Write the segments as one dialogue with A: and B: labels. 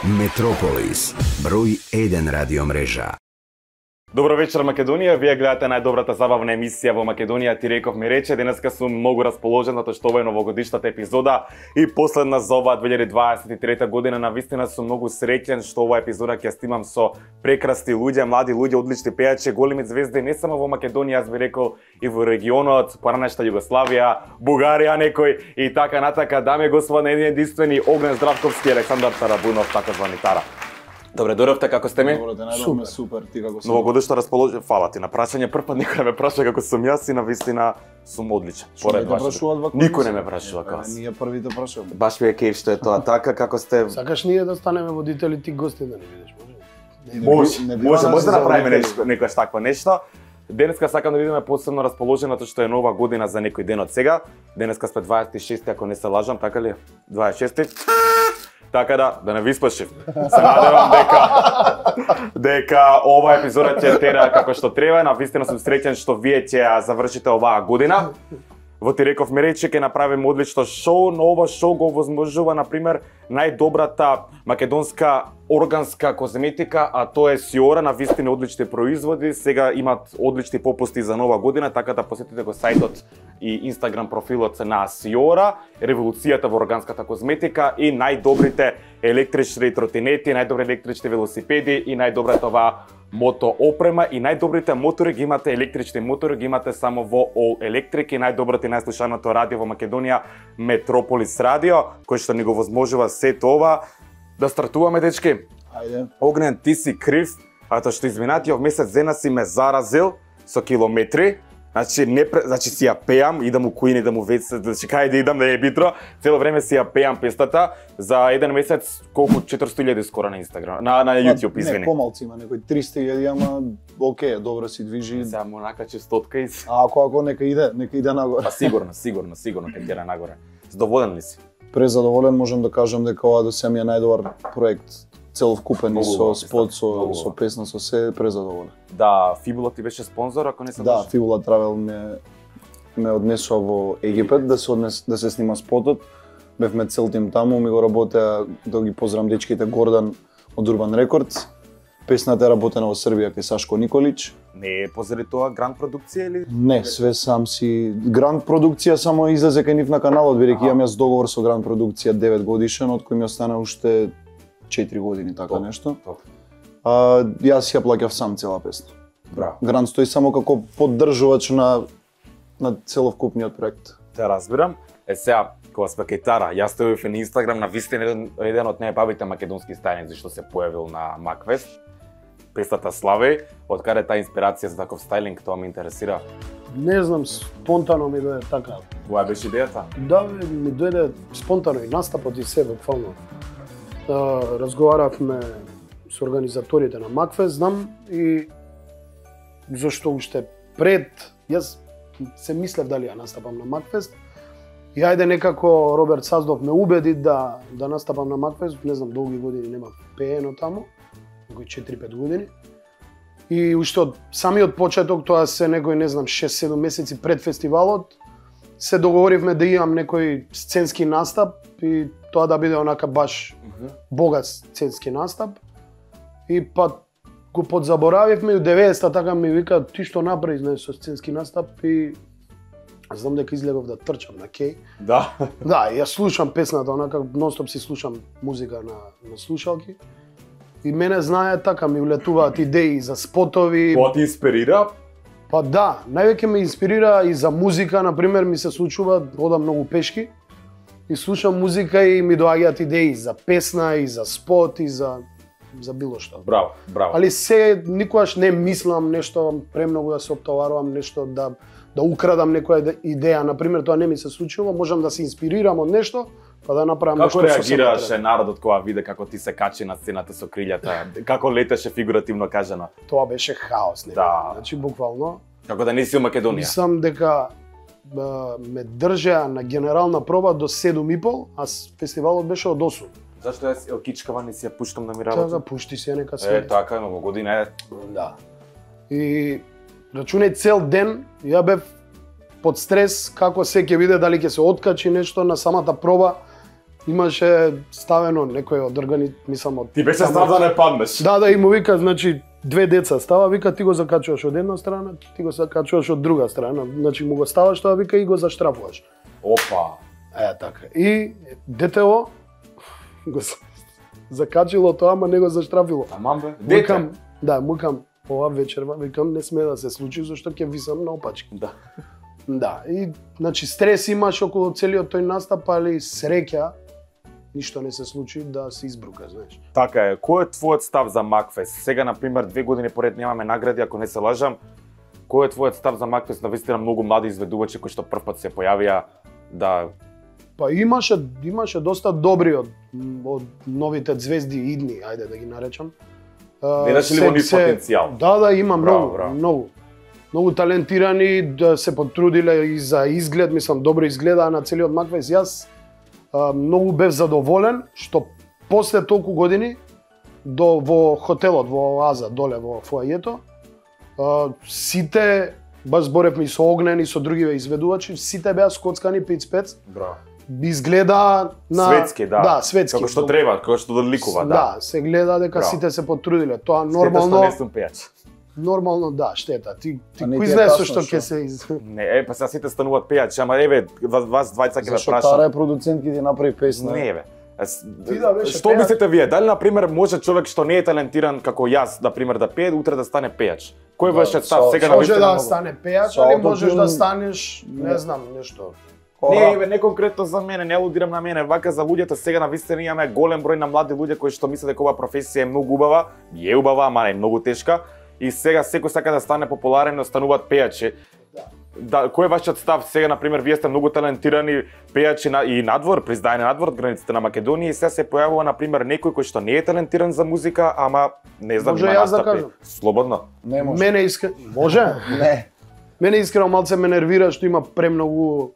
A: Метрополис, број 1 радио мрежа.
B: Добро вечер, Македонија. Вие гледате најдобрата забавна емисија во Македонија. Ти реков ми рече, денеска сум многу расположен затоа што ова е новогодишната епизода и последна за оваа 2023 година. Навистина сум многу среќен што оваа епизода ќе снимам со прекрасни луѓе, млади луѓе, одлични пејачи, големи звезди не само во Македонија, аз би рекол и во регионот, поранешна Југославија, Бугарија некој и така натака. Дами и господа, единствени Огнен Здравковски и Александар Тарабунов, така звани Тара. Добре, дојдовте, како сте ми?
C: Добро, те најдовме супер, ти како си?
B: Новогодишно расположен, фала ти на прашање. Прв пат никој не ме праша како сум јас и навистина сум одличен.
C: Поред вашите.
B: Никој не ме прашува како јас.
C: Ние првите прашуваме.
B: Баш ми е кејф што е тоа така, како сте?
D: Сакаш ние да станеме водители, ти гости да не видиш,
B: може да направиме нешто, некојаш такво нешто. Денеска сакам да видиме посебно расположено тоа што е нова година за некој ден од сега. Денеска сме 26, ако не се лажам, така ли? 26. Така да не ви спашив. Се надевам дека оваа епизода ќе тера како што треба. Навистина сум среќен што вие ќе ја завршите оваа година. Во ти реков ми рече ќе направиме одлично шоу, но ова шоу го возможува на пример најдобрата македонска органска козметика, а тоа е Сиора, навистина одлични производи. Сега имат одлични попусти за нова година, така да посетите го сајтот и Инстаграм профилот на Сиора, револуцијата во органската козметика и најдобрите електрични тротинети, најдобри електрични велосипеди и најдобрата оваа мото опрема и најдобрите мотори ги имате, електрични мотори ги имате само во All Electric и најдоброто и најслушаното радио во Македонија Метрополис радио, кој што ни го возможува сето ова. Да стартуваме, дечки.
C: Ајде.
B: Огнен, ти си крив, а тоа што изминатиот месец дена си ме заразил со километри. Значи си ја пеам, идам у Куин, идам у Вец, значи кај да идам да е битро, цело време си ја пеам пестата. За еден месец колку 400.000 скоро на Инстаграм, на YouTube, извини.
C: Не, помалци има, некој 300.000, ама окей, добро си движи.
B: Сега му накачи стотка и...
C: Ако нека иде нагоре.
B: Па сигурно ќе иде нагоре. Задоволен ли си?
C: Презадоволен, можам да кажам дека ова до сега ми е најдобар проект. Целовкупен и со спот, со песна, со се, презадоволен.
B: Да, Фибула ти беше спонзор, ако не се
C: Да, Фибула Травел ме однесува во Египет да се снима спотот. Бевме цел тим таму, ми го работеа, да ги поздравам дечките, Гордан од Urban Records. Песната е работена во Србија кај Сашко Николич.
B: Не е позади тоа гранд продукција или?
C: Не, све сам си. Гранд продукција само излезе кај нив на каналот, бидејќи имам јас договор со гранд продукција 9 годишен, од кој ми остана уште 4 години, така нешто. Јас ја плаќав сам цела песна.
B: Браво.
C: Гранд стои само како поддржувач на целовкупниот проект.
B: Те разбирам. Сега, кога сме кај Тара, јас стојав на Инстаграм, навистина еден од најбавите македонски стајници што се појавил на Макфест. Песната Славеј, од каде таа инспирација за таков стајлинг, тоа ме интересира.
D: Не знам, спонтано ми дојде така.
B: Која беше идејата?
D: Да, ми дојде спонтано и настапот и се буквално. Разговаравме со организаторите на Макфест, знам, и зашто уште пред, јас се мислев дали ја настапам на Макфест, и ајде некако Роберт Саздов ме убеди да настапам на Макфест, не знам, долги години нема пеено таму, некои 4-5 години. И уште од самиот почеток, тоа се некој, не знам, 6-7 месеци пред фестивалот, се договоривме да имам некој сценски настап и тоа да биде онака баш богат сценски настап. И па го подзаборавивме и у 90-та така ми вика ти што направи знаеш со сценски настап и знам дека излегов да трчам на кеј.
B: Да.
D: Да, ја слушам песната онака нонстоп си слушам музика на слушалки. И мене знае така ми улетуваат идеи за спотови.
B: Тоа ти инспирира?
D: Па да, највеќе ме инспирира и за музика, на пример ми се случува, одам многу пешки и слушам музика и ми доаѓаат идеи за песна и за спот и за било што.
B: Браво, браво.
D: Али се никогаш не мислам нешто премногу да се оптоварувам, нешто да украдам некоја идеја, на пример тоа не ми се случува, можам да се инспирирам од нешто, па да направам нешто.
B: Како реагираше народот кога виде како ти се качи на сцената со крилјата? Како летеше фигуративно кажано?
D: Тоа беше хаос, не?
B: Да.
D: Значи буквално
B: Како да не си у Македонија.
D: Мислам дека ме држеа на генерална проба до 7:30, а фестивалот беше од 8.
B: Зашто јас елкичкава не си ја пуштам да ми работи?
D: Така, пушти си ја нека све.
B: Така, многу година е.
D: Да. И рачунај цел ден, ја бев под стрес како се ќе биде, дали ќе се откачи нешто на самата проба. имаше ставено некој од мислам од...
B: Ти беше страв да не паднеш.
D: Да, и му вика, значи, две деца става, вика, ти го закачуваш од една страна, ти го закачуваш од друга страна. Значи, му го ставаш тоа, вика, и го заштрафуваш.
B: Опа.
D: Така. И детево го закачило тоа, ама не го заштрафило.
B: Аман бе, дете?
D: Мукам, ова вечерва, викам, не сме да се случи, зашто ќе висам на опачки.
B: Да.
D: Да, и значи стрес имаш околу целиот тој настап, али среќа ништо не се случи да се избрука, знаеш.
B: Така е. Кој е твојот став за Макфест? Сега на пример 2 години поред немаме награди, ако не се лажам. Кој е твојот став за Макфест? Навистина многу млади изведувачи кои што првпат се појавија да
D: Па имаше доста добри од новите звезди идни, ајде да ги наречам.
B: Видаш ли во нив потенцијал?
D: Да, има
B: Браво.
D: Многу талентирани, да се потрудиле и за изглед, мислам, добро изгледаа на целиот Макфест. Јас многу бев задоволен што после толку години во хотелот во Оаза доле во фоајето сите, баш зборевме и со Огнен и со другиве изведувачи, сите беа скоцкани пиц-пец.
B: Браво.
D: Изгледа на
B: светски, да.
D: Да, светски.
B: Како што треба, како што доликува, да.
D: Да, се гледа дека
B: Браво.
D: сите се потрудиле. Тоа нормално.
B: Штета што не сум пејач.
D: Нормално, да, штета. Ти
C: не
D: кој
C: ти е
D: знаеш
C: тасно,
D: што ќе
C: што?
D: се
B: Не, па сега сите стануваат пејачи, ама еве, вас двајца ќе ве
C: Зашто
B: прашам.
C: Тара е продуцент ки ти направи песна.
B: Не бе.
D: Ти да беше
B: Што
D: пејач.
B: мислите вие? Дали на пример може човек што не е талентиран како јас, на пример да пее, утре да стане пејач? Кој беше став сега на
D: може
B: вистина?
D: да стане пејач,
C: Со
D: али
C: аутотюн.
D: можеш да станеш, не знам, нешто.
B: Не, бе, не конкретно за мене, не алудирам на мене, вака за луѓето сега на вистина имаме голем број на млади луѓе кои што мислат дека оваа професија е многу убава, е убава, ама е многу тешка и сега секој сака да стане популарен, но стануваат пејачи. Да, кој е вашиот став сега, на пример, вие сте многу талентирани пејачи и надвор, приздајани надвор од границите на Македонија и сега се појавува на пример некој кој што не е талентиран за музика, ама не знам,
D: Може
B: има
D: јас да
B: настапи.
D: кажам?
B: Слободно.
C: Не може.
D: Мене може?
C: Не.
D: Мене искрено малце ме нервира што има премногу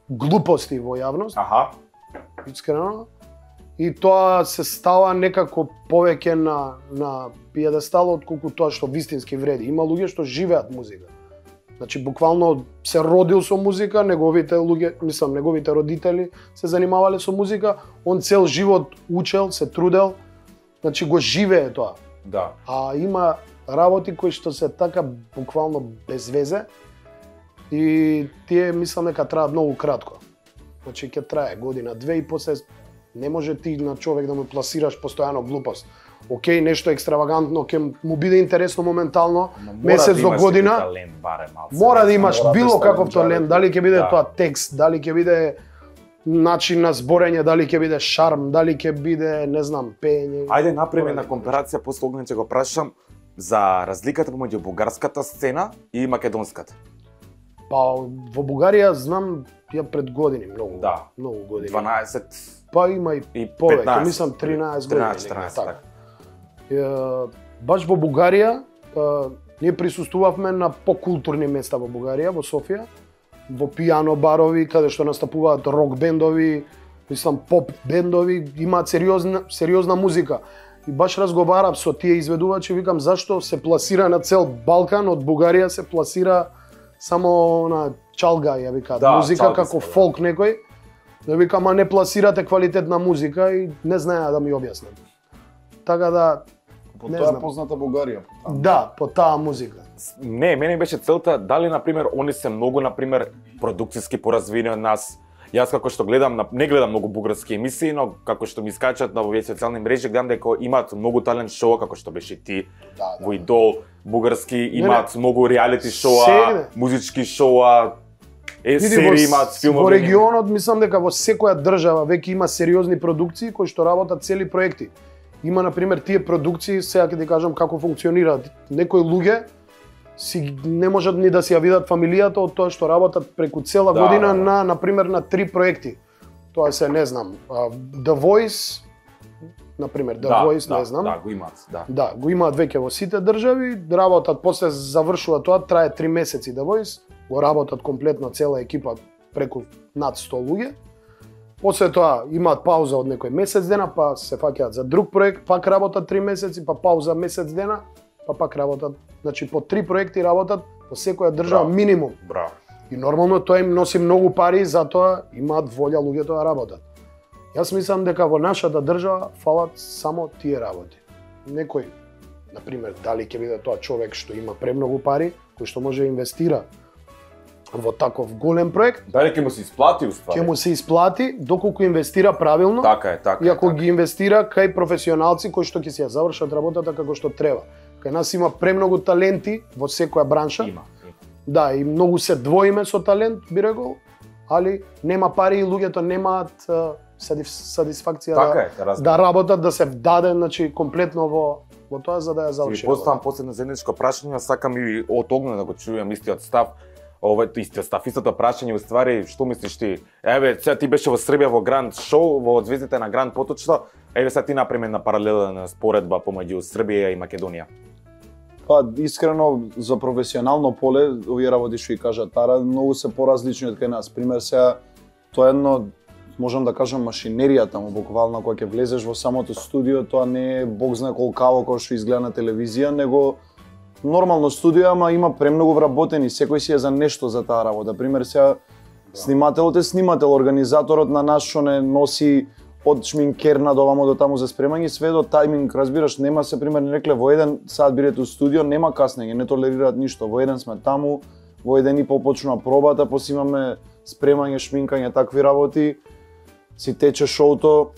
D: глупости во јавност.
B: Аха.
D: Искрено. И тоа се става некако повеќе на пиедестал отколку тоа што вистински вреди. Има луѓе што живеат музика. Значи буквално се родил со музика, неговите луѓе, мислам, неговите родители се занимавале со музика, он цел живот учел, се трудел, значи го живее тоа.
B: Да.
D: А има работи кои што се така буквално без везе и тие мислам дека траат многу кратко. Значи ќе трае година, две и после не може ти на човек да му пласираш постојано глупост. Океј, нешто екстравагантно ќе му биде интересно моментално, месец до година.
B: Талент, барем, малце.
D: Мора да имаш
C: мора да
D: било
C: ставиш
D: каков
C: талент.
D: талент, дали ќе биде
B: Да.
D: тоа текст, дали ќе биде начин на зборење, дали ќе биде шарм, дали ќе биде, не знам, пеење.
B: Ајде направи една компарација, после Огнен ќе го прашам за разликата помеѓу бугарската сцена и македонската.
D: Па во Бугарија знам ја пред години многу.
B: Да.
D: Многу години.
B: 12
D: Па има и
B: и
D: повеќе,
B: 15.
D: мислам 13 години.
B: 14,
D: така.
B: така.
D: Баш во Бугарија, ние присуствувавме на покултурни места во Бугарија, во Софија, во пијано барови, каде што настапуваат рок бендови, мислам поп бендови, имаат сериозна музика. И баш разговарав со тие изведувачи, викам зашто се пласира на цел Балкан, од Бугарија се пласира само на чалга, ја викаат,
B: Да,
D: музика
B: чалга
D: како
B: се, да.
D: фолк некој. Да викам, а не пласирате квалитетна музика и не знаеа да ми објаснат. Така да,
C: По
D: не
C: тоа е
D: знам.
C: позната Бугарија.
D: да, по таа музика.
B: Не, мене беше целта дали на пример они се многу на пример продукциски поразвини од нас. Јас како што гледам, не гледам многу бугарски емисии, но како што ми скачат на овие социјални мрежи, гледам дека имаат многу талент шоу како што беше ти,
C: Да,
B: во Идол, бугарски имаат многу реалити шоуа,
D: Сегне.
B: музички шоуа,
D: Види,
B: серии имаат филмови.
D: Во регионот мислам дека во секоја држава веќе има сериозни продукции кои што работат цели проекти. Има на пример тие продукции, сега ќе ти кажам како функционираат. Некои луѓе си не можат ни да си ја видат фамилијата од тоа што работат преку цела
B: Да,
D: година
B: да.
D: на пример на 3 проекти. Тоа се не знам, The Voice, на пример The Voice, не знам.
B: Да, го имаат, да.
D: Да, го имаат веќе во сите држави, работат, после завршува тоа, трае 3 месеци The Voice, го работат комплетно цела екипа преку над 100 луѓе. После тоа имаат пауза од некој месец дена, па се фаќаат за друг проект, пак работат 3 месеци, па пауза месец дена, па пак работат. Значи по 3 проекти работат во секоја држава
B: Браво.
D: минимум.
B: Браво.
D: И нормално тоа им носи многу пари, затоа имаат волја луѓето да работат. Јас мислам дека во нашата држава фалат само тие работи. Некој, например, дали ќе биде тоа човек што има премногу пари, кој што може да инвестира во таков голем проект,
B: Дали ќе му се исплати уствари?
D: ќе му се исплати доколку инвестира правилно.
B: Така е, така.
D: И ако ги инвестира кај професионалци кои што ќе си ја завршат работата како што треба. Кај нас има премногу таленти во секоја бранша.
B: Има.
D: Да, и многу се двоиме со талент, би рекол, али нема пари и луѓето немаат сатисфакција
B: Така е, разбирам.
D: да работат, да се вдаде, значи комплетно во тоа за да ја заврши.
B: Си поставам последно заедничко прашање, сакам и од Огнен да го чујам истиот став. Истиот став, истото прашање, уствари, што мислиш ти? Еве, сега ти беше во Србија во Гранд шоу, во звездите на Гранд Поточно. Еве сега ти направи една паралелна споредба помеѓу Србија и Македонија.
C: Па, искрено, за професионално поле, овие работи што и кажа Тара, многу се поразлични од кај нас. Пример, сега, тоа едно, можам да кажам, машинеријата му, буквално, кога ќе влезеш во самото студио, тоа не е бог знае колкаво кој што изгледа на телевизија, него нормално студио, ама има премногу вработени, секој си е за нешто за таа работа. Пример, сега, снимателот е снимател, организаторот на нас што не носи од шминкерна до вамо до таму за спремање, све до тајминг, разбираш, нема се пример не рекле во еден саат бидете у студио, нема каснење, не толерираат ништо. Во еден сме таму, во еден и пол почнува пробата, после имаме спремање, шминкање, такви работи, си тече шоуто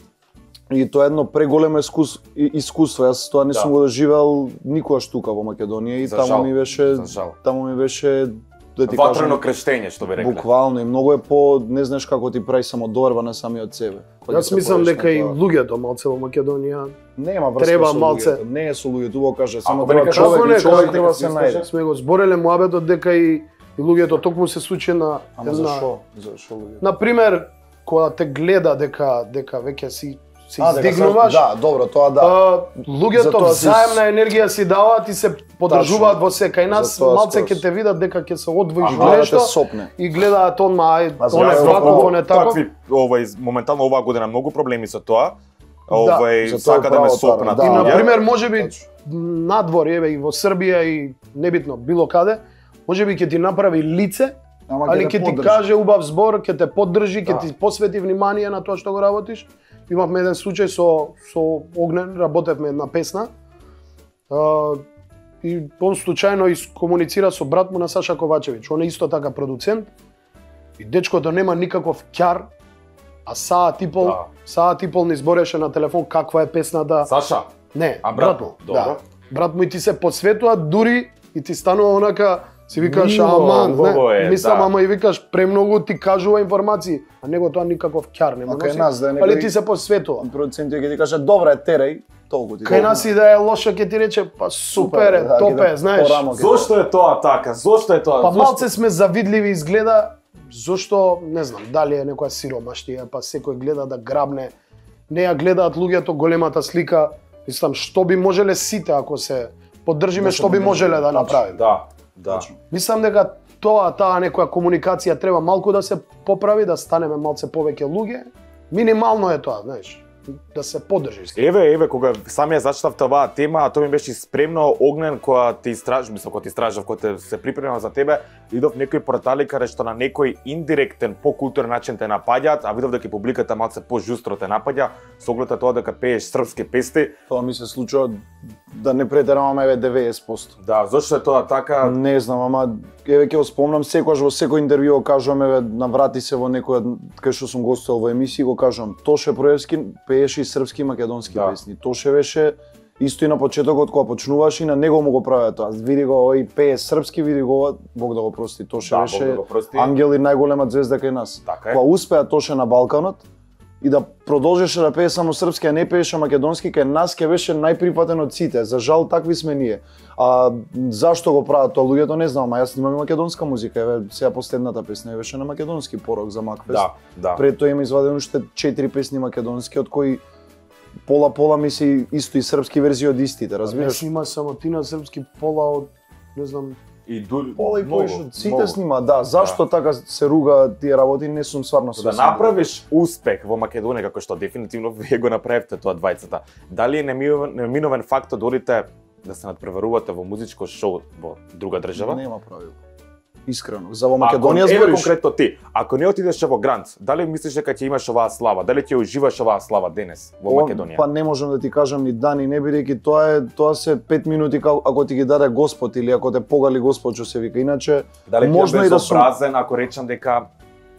C: и тоа е едно преголемо искуство. Јас тоа не сум го доживел никогаш тука во Македонија и таму ми беше да ти
B: ватрено крштење, што би рекле.
C: Буквално и многу е по, не знаеш како ти прави самодоверба на самиот себе.
D: Јас мислам дека и луѓето малце во Македонија
C: нема врска
D: треба
C: со
D: малце.
C: луѓето. Не е со луѓето, го кажа, само
B: треба
C: треба
B: човек,
C: човек треба се најде.
D: Сме го збореле муабетот дека и луѓето токму се случи на
C: Ама зашо? Зашо луѓето?
D: На пример, кога те гледа дека веќе се издигнуваш.
C: Да, добро, тоа да.
D: Луѓето взаемна енергија си даваат и се поддржуваат во се. Кај нас малце ќе те видат дека ќе се одвоиш нешто и гледаат онма оне факов, оне таков.
B: Такви, моментално оваа година многу проблеми со тоа. Сака да ме сопнат.
D: И на пример, можеби надвор, еве и во Србија и небитно било каде, можеби ќе ти направи лице, али ќе ти каже убав збор, ќе те поддржи, ќе ти посвети внимание на тоа што го работиш. Имавме еден случај со Огнен, работевме една песна. И он случајно искомуницира со брат му на Саша Ковачевиќ. Он е исто така продуцент. И дечкото нема никаков ќар, а саат и пол не избореше на телефон каква е песната.
B: Саша?
D: Не,
B: а брат му.
D: Да. Брат му и ти се посветува, дури и ти станува онака, си викаш, аман, мислам, ама и викаш, премногу ти кажува информации, а него тоа никаков ќар нема носи, али ти се посветува.
C: Продуцентот ќе ти каже, добра е, терај, толку ти.
D: Кај нас и да е лошо ќе ти рече, па супер е, топ е, знаеш.
B: Зошто е тоа така? Зошто е тоа?
D: Па малце сме завидливи изгледа, зошто, не знам, дали е некоја сиромаштија, па секој гледа да грабне, не ја гледаат луѓето големата слика, мислам, што би можеле сите ако се поддржиме, што би можеле да направиме.
B: Да.
D: Мислам дека таа некоја комуникација треба малку да се поправи, да станеме малце повеќе луѓе. Минимално е тоа, знаеш, да се поддржиш.
B: Еве, кога самија зачитав оваа тема, а тоа ми беше спремно Огнен кога ти истражав, кога се припремав за тебе, видов некои портали каде што на некој индиректен, покултурен начин те напаѓаат, а видов дека публиката малце пожустро те напаѓа, со оглед тоа дека пееш српски песни.
C: Тоа ми се случува да не претерам, еве 90%.
B: Да, зошто е тоа така?
C: Не знам, ама еве ќе го спомнам секогаш во секој интервју го кажувам, еве наврати се во некоја кај што сум гостувал во емисија го кажувам, Тоше Проевски пееше и српски и македонски песни. Тоше беше исто и на почетокот кога почнуваш и на него му го правеа тоа. Види го овој пее српски, види го Бог да го прости. Тоше беше ангел и најголема звезда кај нас. Кога успеа Тоше на Балканот и да продолжеше да пее само српски, а не пееше македонски, кај нас ќе беше најприфатен од сите. За жал такви сме ние. А зашто го прават тоа луѓето не знам, а јас снимам и македонска музика. Еве сега последната песна беше на македонски порок за Макфест.
B: Да.
C: Пред тоа има извадено уште 4 песни македонски, од кои пола мисли исто и српски верзии од истите, разбираш?
D: Има само ти на српски, пола од, не знам,
B: и дури
C: пола и повеќе од сите снима, да. Зашто така се руга тие работи, не сум стварно свесен.
B: Да направиш успех во Македонија, како што дефинитивно вие го направивте тоа двајцата. Дали е неминовен факт да одите да се надпреварувате во музичко шоу во друга држава?
C: Нема правило. искрено. За во Македонија
B: збориш?
C: Конкретно
B: ти, ако не отидеш во Грант, дали мислиш дека ќе имаш оваа слава? Дали ќе уживаш оваа слава денес во Македонија?
C: Па не можам да ти кажам ни да ни не, бидејќи тоа се 5 минути ако ти ги даде Господ или ако те погали Господ, што се вика. Иначе
B: дали
C: можно и да сум
B: безобразен ако речам дека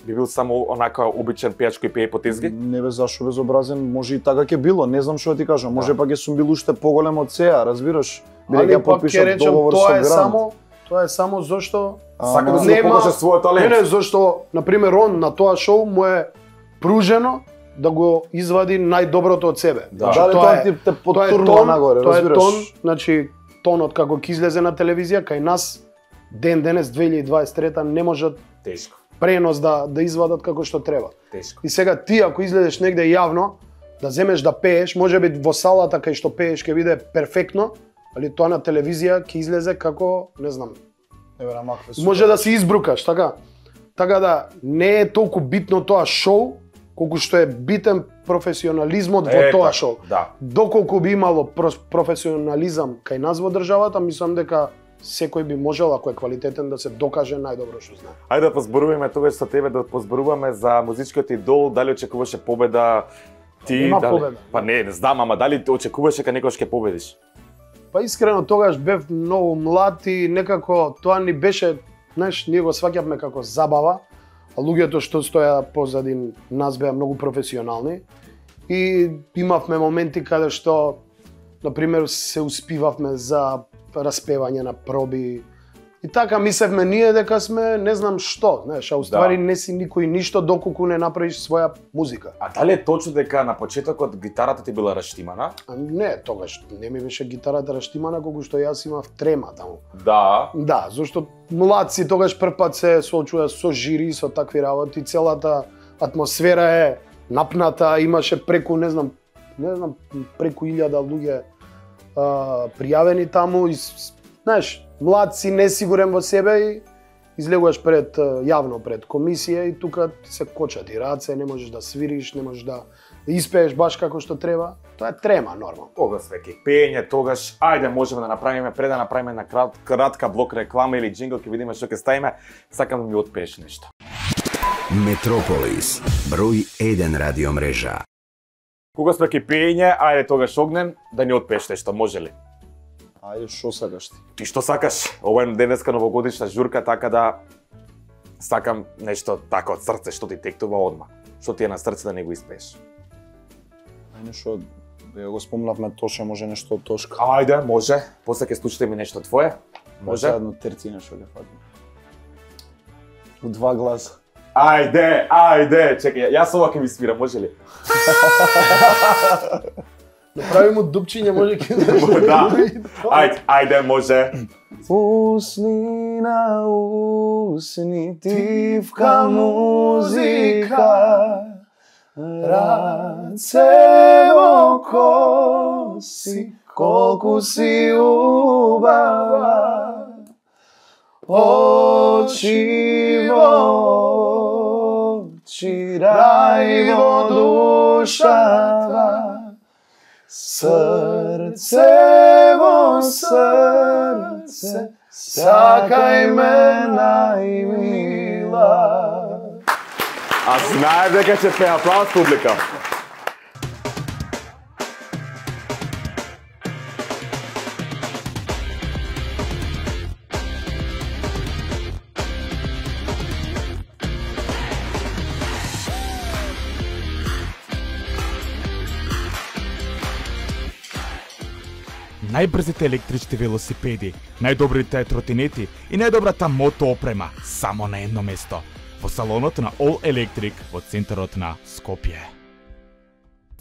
B: би бил само онака обичен пејач кој пее по тезги?
C: Не бе, зашо безобразен, може и така ќе било, не знам што да ти кажам. Може пак ќе сум бил уште поголем од сеа, разбираш?
D: Али пак ќе речам тоа е само зашто
B: сака да се покаже својот талент.
D: Не, зашто на пример он на тоа шоу му е пружено да го извади најдоброто од себе.
C: Да, тоа ти те потурнува нагоре, разбираш?
D: Тоа е тон, значи тонот како ќе излезе на телевизија кај нас денес 2023 не можат
B: тешко
D: пренос да извадат како што треба.
B: Тешко.
D: И сега ти ако излезеш негде јавно да земеш да пееш, можеби во салата кај што пееш ќе биде перфектно, али тоа на телевизија ќе излезе како, не знам. Може да се избрукаш, така. Така да не е толку битно тоа шоу, колку што е битен професионализмот во тоа шоу.
B: Да.
D: Доколку би имало професионализам кај нас во државата, мислам дека секој би можел, ако е квалитетен, да се докаже најдобро што знае.
B: Ајде да позборуваме тогаш со тебе, да позборуваме за музичкиот идол, дали очекуваше победа ти?
D: Нема победа.
B: Па не знам, ама дали очекуваше дека некош ќе победиш?
D: Па искрено тогаш бев многу млад и некако тоа ни беше, знаеш, ние го сваќавме како забава, а луѓето што стоја позади нас беа многу професионални и имавме моменти каде што, на пример, се успивавме за распевање на проби. И така мислевме ние дека сме не знам што, знаеш, а уствари не си никој ништо доколку не направиш своја музика.
B: А дали е точно дека на почетокот гитарата ти била раштимана?
D: Не, тогаш не ми беше гитарата раштимана колку што јас имав трема таму.
B: Да.
D: Да, зашто млад си тогаш првпат се соочува со жири, со такви работи, целата атмосфера е напната, имаше преку не знам преку 1000 луѓе пријавени таму и знаеш, млад си, несигурен во себе и излегуваш пред јавно пред комисија и тука се кочат и раце, не можеш да свириш, не можеш да испееш баш како што треба. Тоа е трема нормално.
B: Тогаш веќе пеење, тогаш ајде можеме да направиме пред да направиме на кратка блок реклама или джингл, ќе видиме што ќе ставиме. Сакам да ми отпееш нешто.
A: Метрополис, број 1 радио мрежа.
B: Кога сме ке пеење, ајде тогаш Огнен да ни отпееш нешто, може ли?
C: Ајде, што сакаш ти?
B: Ти што сакаш? Ова е денеска новогодишна журка, така да сакам нешто така од срце што ти тектува одма. Што ти е на срце да не го испееш?
C: Ајде што го спомнавме Тоше, може нешто од Тошка.
B: Ајде, може. После ќе слушате ми нешто твое. Може?
C: Заедно терци нешто ќе фатиме. У 2 гласа.
B: Ајде, чекај, јас ова ќе ми свира, може ли?
D: Направи му дупчиње, може ќе
B: да. Ајде, може.
C: Усни на усни, тивка музика, раце во коси, колку си убава, очи во очи, рај во душата, срце во срце, сакај ме најмила.
B: А знае дека ќе пее, аплауз публика.
E: Најбрзите електрични велосипеди, најдобрите тротинети и најдобрата мотоопрема само на едно место, во салонот на All Electric во центарот на Скопје.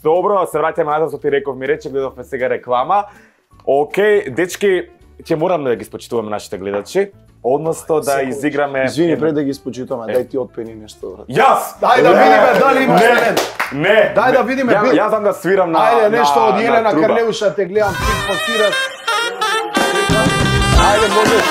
B: Добро, се враќаме назад, што ти реков, ми рече, гледавме сега реклама. Океј, дечки, ќе морам да ги спочитуваме нашите гледачи, односно да изиграме...
C: Извини, пред да ги спочитуваме, дај ти отпени нешто.
B: Јас!
D: Дај да видиме дали имаш талент.
B: Не!
D: Дај да видиме.
B: Јас знам да свирам на
D: Ајде, нешто од Јелена
B: труба.
D: Карлеуша, те гледам, ти постираш. Ајде, можеш.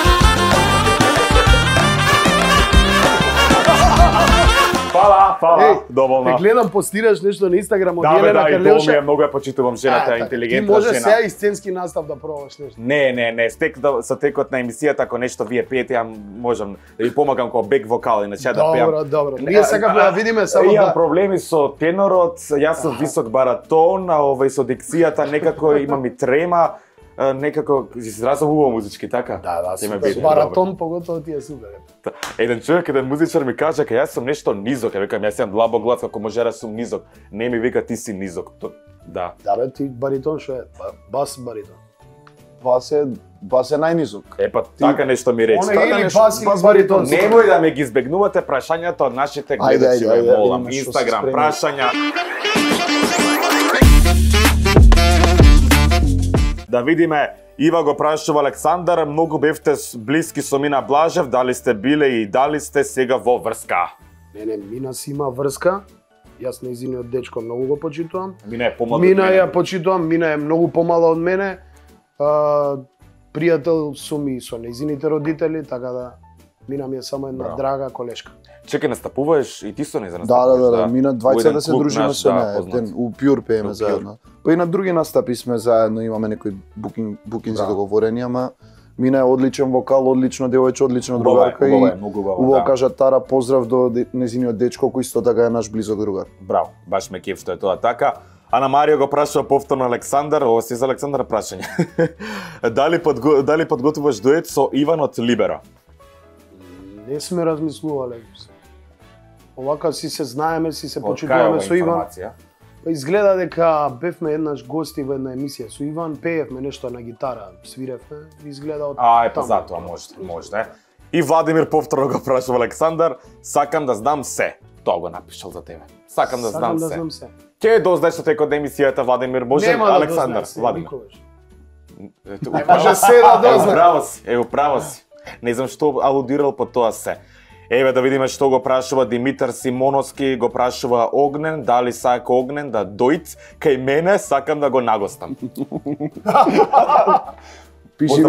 B: Па Фала, доволно.
D: Те гледам постираш нешто на Инстаграм од
B: Да,
D: Елена
B: и
D: Карлеуша.
B: тоа ми е многу ја почитувам жената, интелигентна
D: Ти може
B: жена.
D: сега и сценски настав да пробаш нешто.
B: Не, со текот на емисијата, ако нешто вие пеете, ја можам да ви помагам како бек вокал, иначе да пеам.
D: Добро. Ние сакаме да видиме само
B: Имам
D: да...
B: проблеми со тенорот, јас сум висок баратон, а со дикцијата некако имам и трема, некако изразам убаво музички, така?
D: Да,
B: Ќе ме
D: супер.
B: биде,
D: Баратон поготово ти е супер.
B: Еден човек, еден музичар ми кажа дека јас сум нешто низок, ја викам јас имам длабок глас како можера сум низок. Не ми вика ти си низок. Да.
D: Да бе, ти баритон што е? Бас баритон.
C: Бас е најнизок.
B: Па така нешто ми рече.
D: Она или бас или баритон.
B: Немој да ме ги избегнувате прашањата од нашите гледачи, ме молам.
C: видиме што се
B: Инстаграм
C: спремни.
B: прашања. Да видиме, Ива го прашува Александар, многу бевте блиски со Мина Блажев, дали сте биле и дали сте сега во врска?
D: Не, Мина си има врска. Јас нејзиниот дечко многу го почитувам.
B: Мина е помлад.
D: Мина ја почитувам, Мина е многу помала од мене. Пријател сум и со нејзините родители, така да Мина ми е само една драга колешка.
B: Чекај, настапуваш и ти со нејза
C: Да,
B: настапуваш?
C: Мина двајца да се дружиме
B: наш,
C: со
B: да,
C: неа,
B: познат.
C: еден у Пјур пееме
B: У Пјур.
C: заедно. Па и на други настапи сме заедно, имаме некои букинзи договорени, ама Мина е одличен вокал, одлично девојче, одлично другарка и
B: многу
C: убаво кажа Тара поздрав до незиниот дечко кој исто така е наш близок другар.
B: Браво, баш ме кеф што е тоа така. Ана Марио го прашува повторно Александар, ова си за Александар прашање. Дали подготвуваш дует со Иван од Либеро?
D: Не сме размислувале. Овака си се знаеме, си се почитуваме со Иван. Па изгледа дека бевме еднаш гости во една емисија со Иван, пеевме нешто на гитара, свиревме, изгледа од
B: Па затоа може. И Владимир повторно го прашува Александар, сакам да знам се. Тоа го напишал за тебе. Сакам да знам се. Ќе дознаеш со текот на емисијата, Владимир, може Александар, Владимир.
D: Не може се да дознае.
B: Право си. Не знам што алудирал по тоа се. Еве да видиме што го прашува Димитар Симоновски, го прашува Огнен, дали сака Огнен да дојд кај мене, сакам да го нагостам.
C: Пиши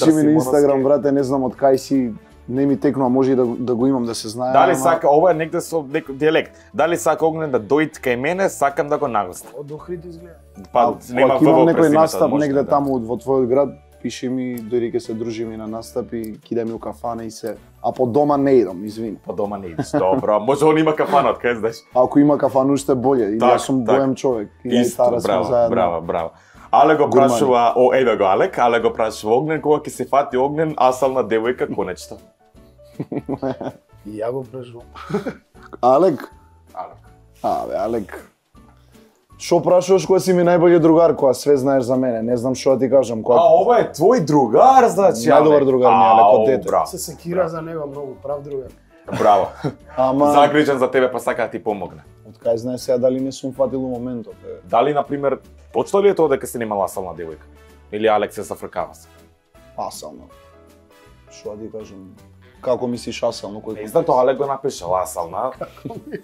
C: ми на Инстаграм, брате, не знам од кај си, не ми текнува, може и да го имам да се знае.
B: Дали сака, ова е негде со некој дијалект. Дали сака Огнен да дојд кај мене, сакам да го нагостам.
D: Од Охрид изгледа.
B: Па нема
C: ако имам
B: ВВ
C: некој
B: през
C: настап
B: името,
C: негде
B: да.
C: таму во твојот град, пиши ми, дојди ќе се дружиме на настап и кидај ми у кафана и се. А по дома не идам, извини.
B: По дома не идеш. Добро, може он има кафана, кај знаеш.
C: Ако има кафан уште боле, и јас сум боем човек. И
B: Исто,
C: Тара сме заедно.
B: браво. Але го прашува, еве го Алек, але го прашува Огнен, кога ќе се фати Огнен, асална девојка конечно.
D: И ја го прашувам.
C: Алек? Алек. Шо прашуваш кога си ми најбољи другар, кога све знаеш за мене? Не знам што да ти кажам.
B: Ова е твој другар, значи.
C: Најдобар другар ми е, Алек, од дете.
D: Се секира за него многу, прав другар.
B: Браво.
C: Ама
B: Загрижен за тебе, па сака да ти помогне.
C: од кај знаеш сега дали не сум фатил у моментот?
B: Дали, например, почто ли е тоа дека се немала асална девојка? Или Алек се зафркава се?
C: Асално. Што да ти кажам? Како мислиш асално?
B: Не знам, тоа Алек го напишал асална.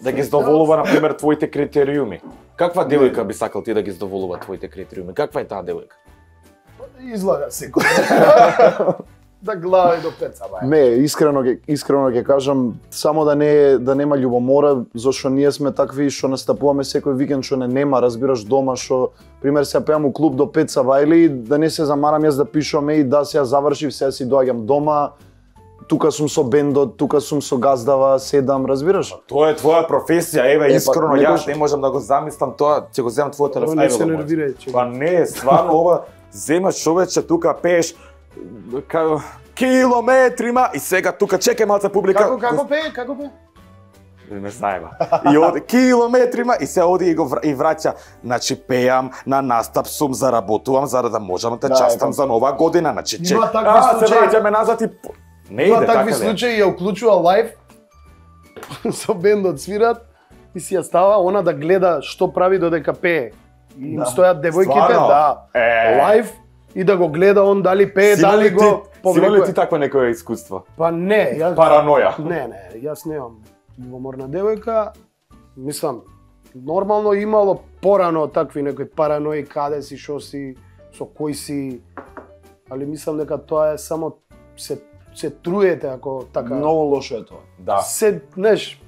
B: Да ги задоволува, например, твоите критериуми. Каква девојка би сакал ти да ги задоволува твоите критериуми? Каква е таа девојка?
D: Излага секој. Да глава и до пеца, бај.
C: Не, искрено ќе кажам, само да нема љубомора, зашто ние сме такви што настапуваме секој викенд што нема, разбираш, дома што пример се пеам у клуб до 5 сабајли, да не се замарам јас да пишувам и да се завршив, сега си доаѓам дома, тука сум со бендот, тука сум со газдава, седам, разбираш?
B: Тоа е твоја професија, еве, искрено,
C: некој-
B: јас не можам да го замислам тоа, ќе го земам твојот телефон.
D: Не
B: Еве
D: се
B: го
D: нервирај,
B: мојот.
D: че.
B: Па не, стварно ова, земаш човече, тука пееш, километрима и сега тука чекај малце публика.
D: Како пее?
B: Не знаеме. И оди километрима и се оди и го и враќа. Значи пеам на настап сум, заработувам за да можам да те частам за нова година. Значи
D: Има такви
B: се
D: случаи.
B: враќаме назад и не
D: Има
B: иде
D: такви
B: така ли?
D: случаи, ја уклучува лайв, со бендот свират и си ја става она да гледа што прави додека пее. И им стојат девојките,
B: Стварно?
D: да, лайв и да го гледа он дали пее, дали го
B: Си имал ли
D: повлекува.
B: ти такво некое искуство?
D: Па не, јас
B: Параноја.
D: Не, јас немам љубоморна девојка. Мислам, нормално имало порано такви некои паранои, каде си, шо си, со кој си, али мислам дека тоа е само се труете ако така.
C: Многу лошо е тоа.
B: Да.
D: Се, знаеш,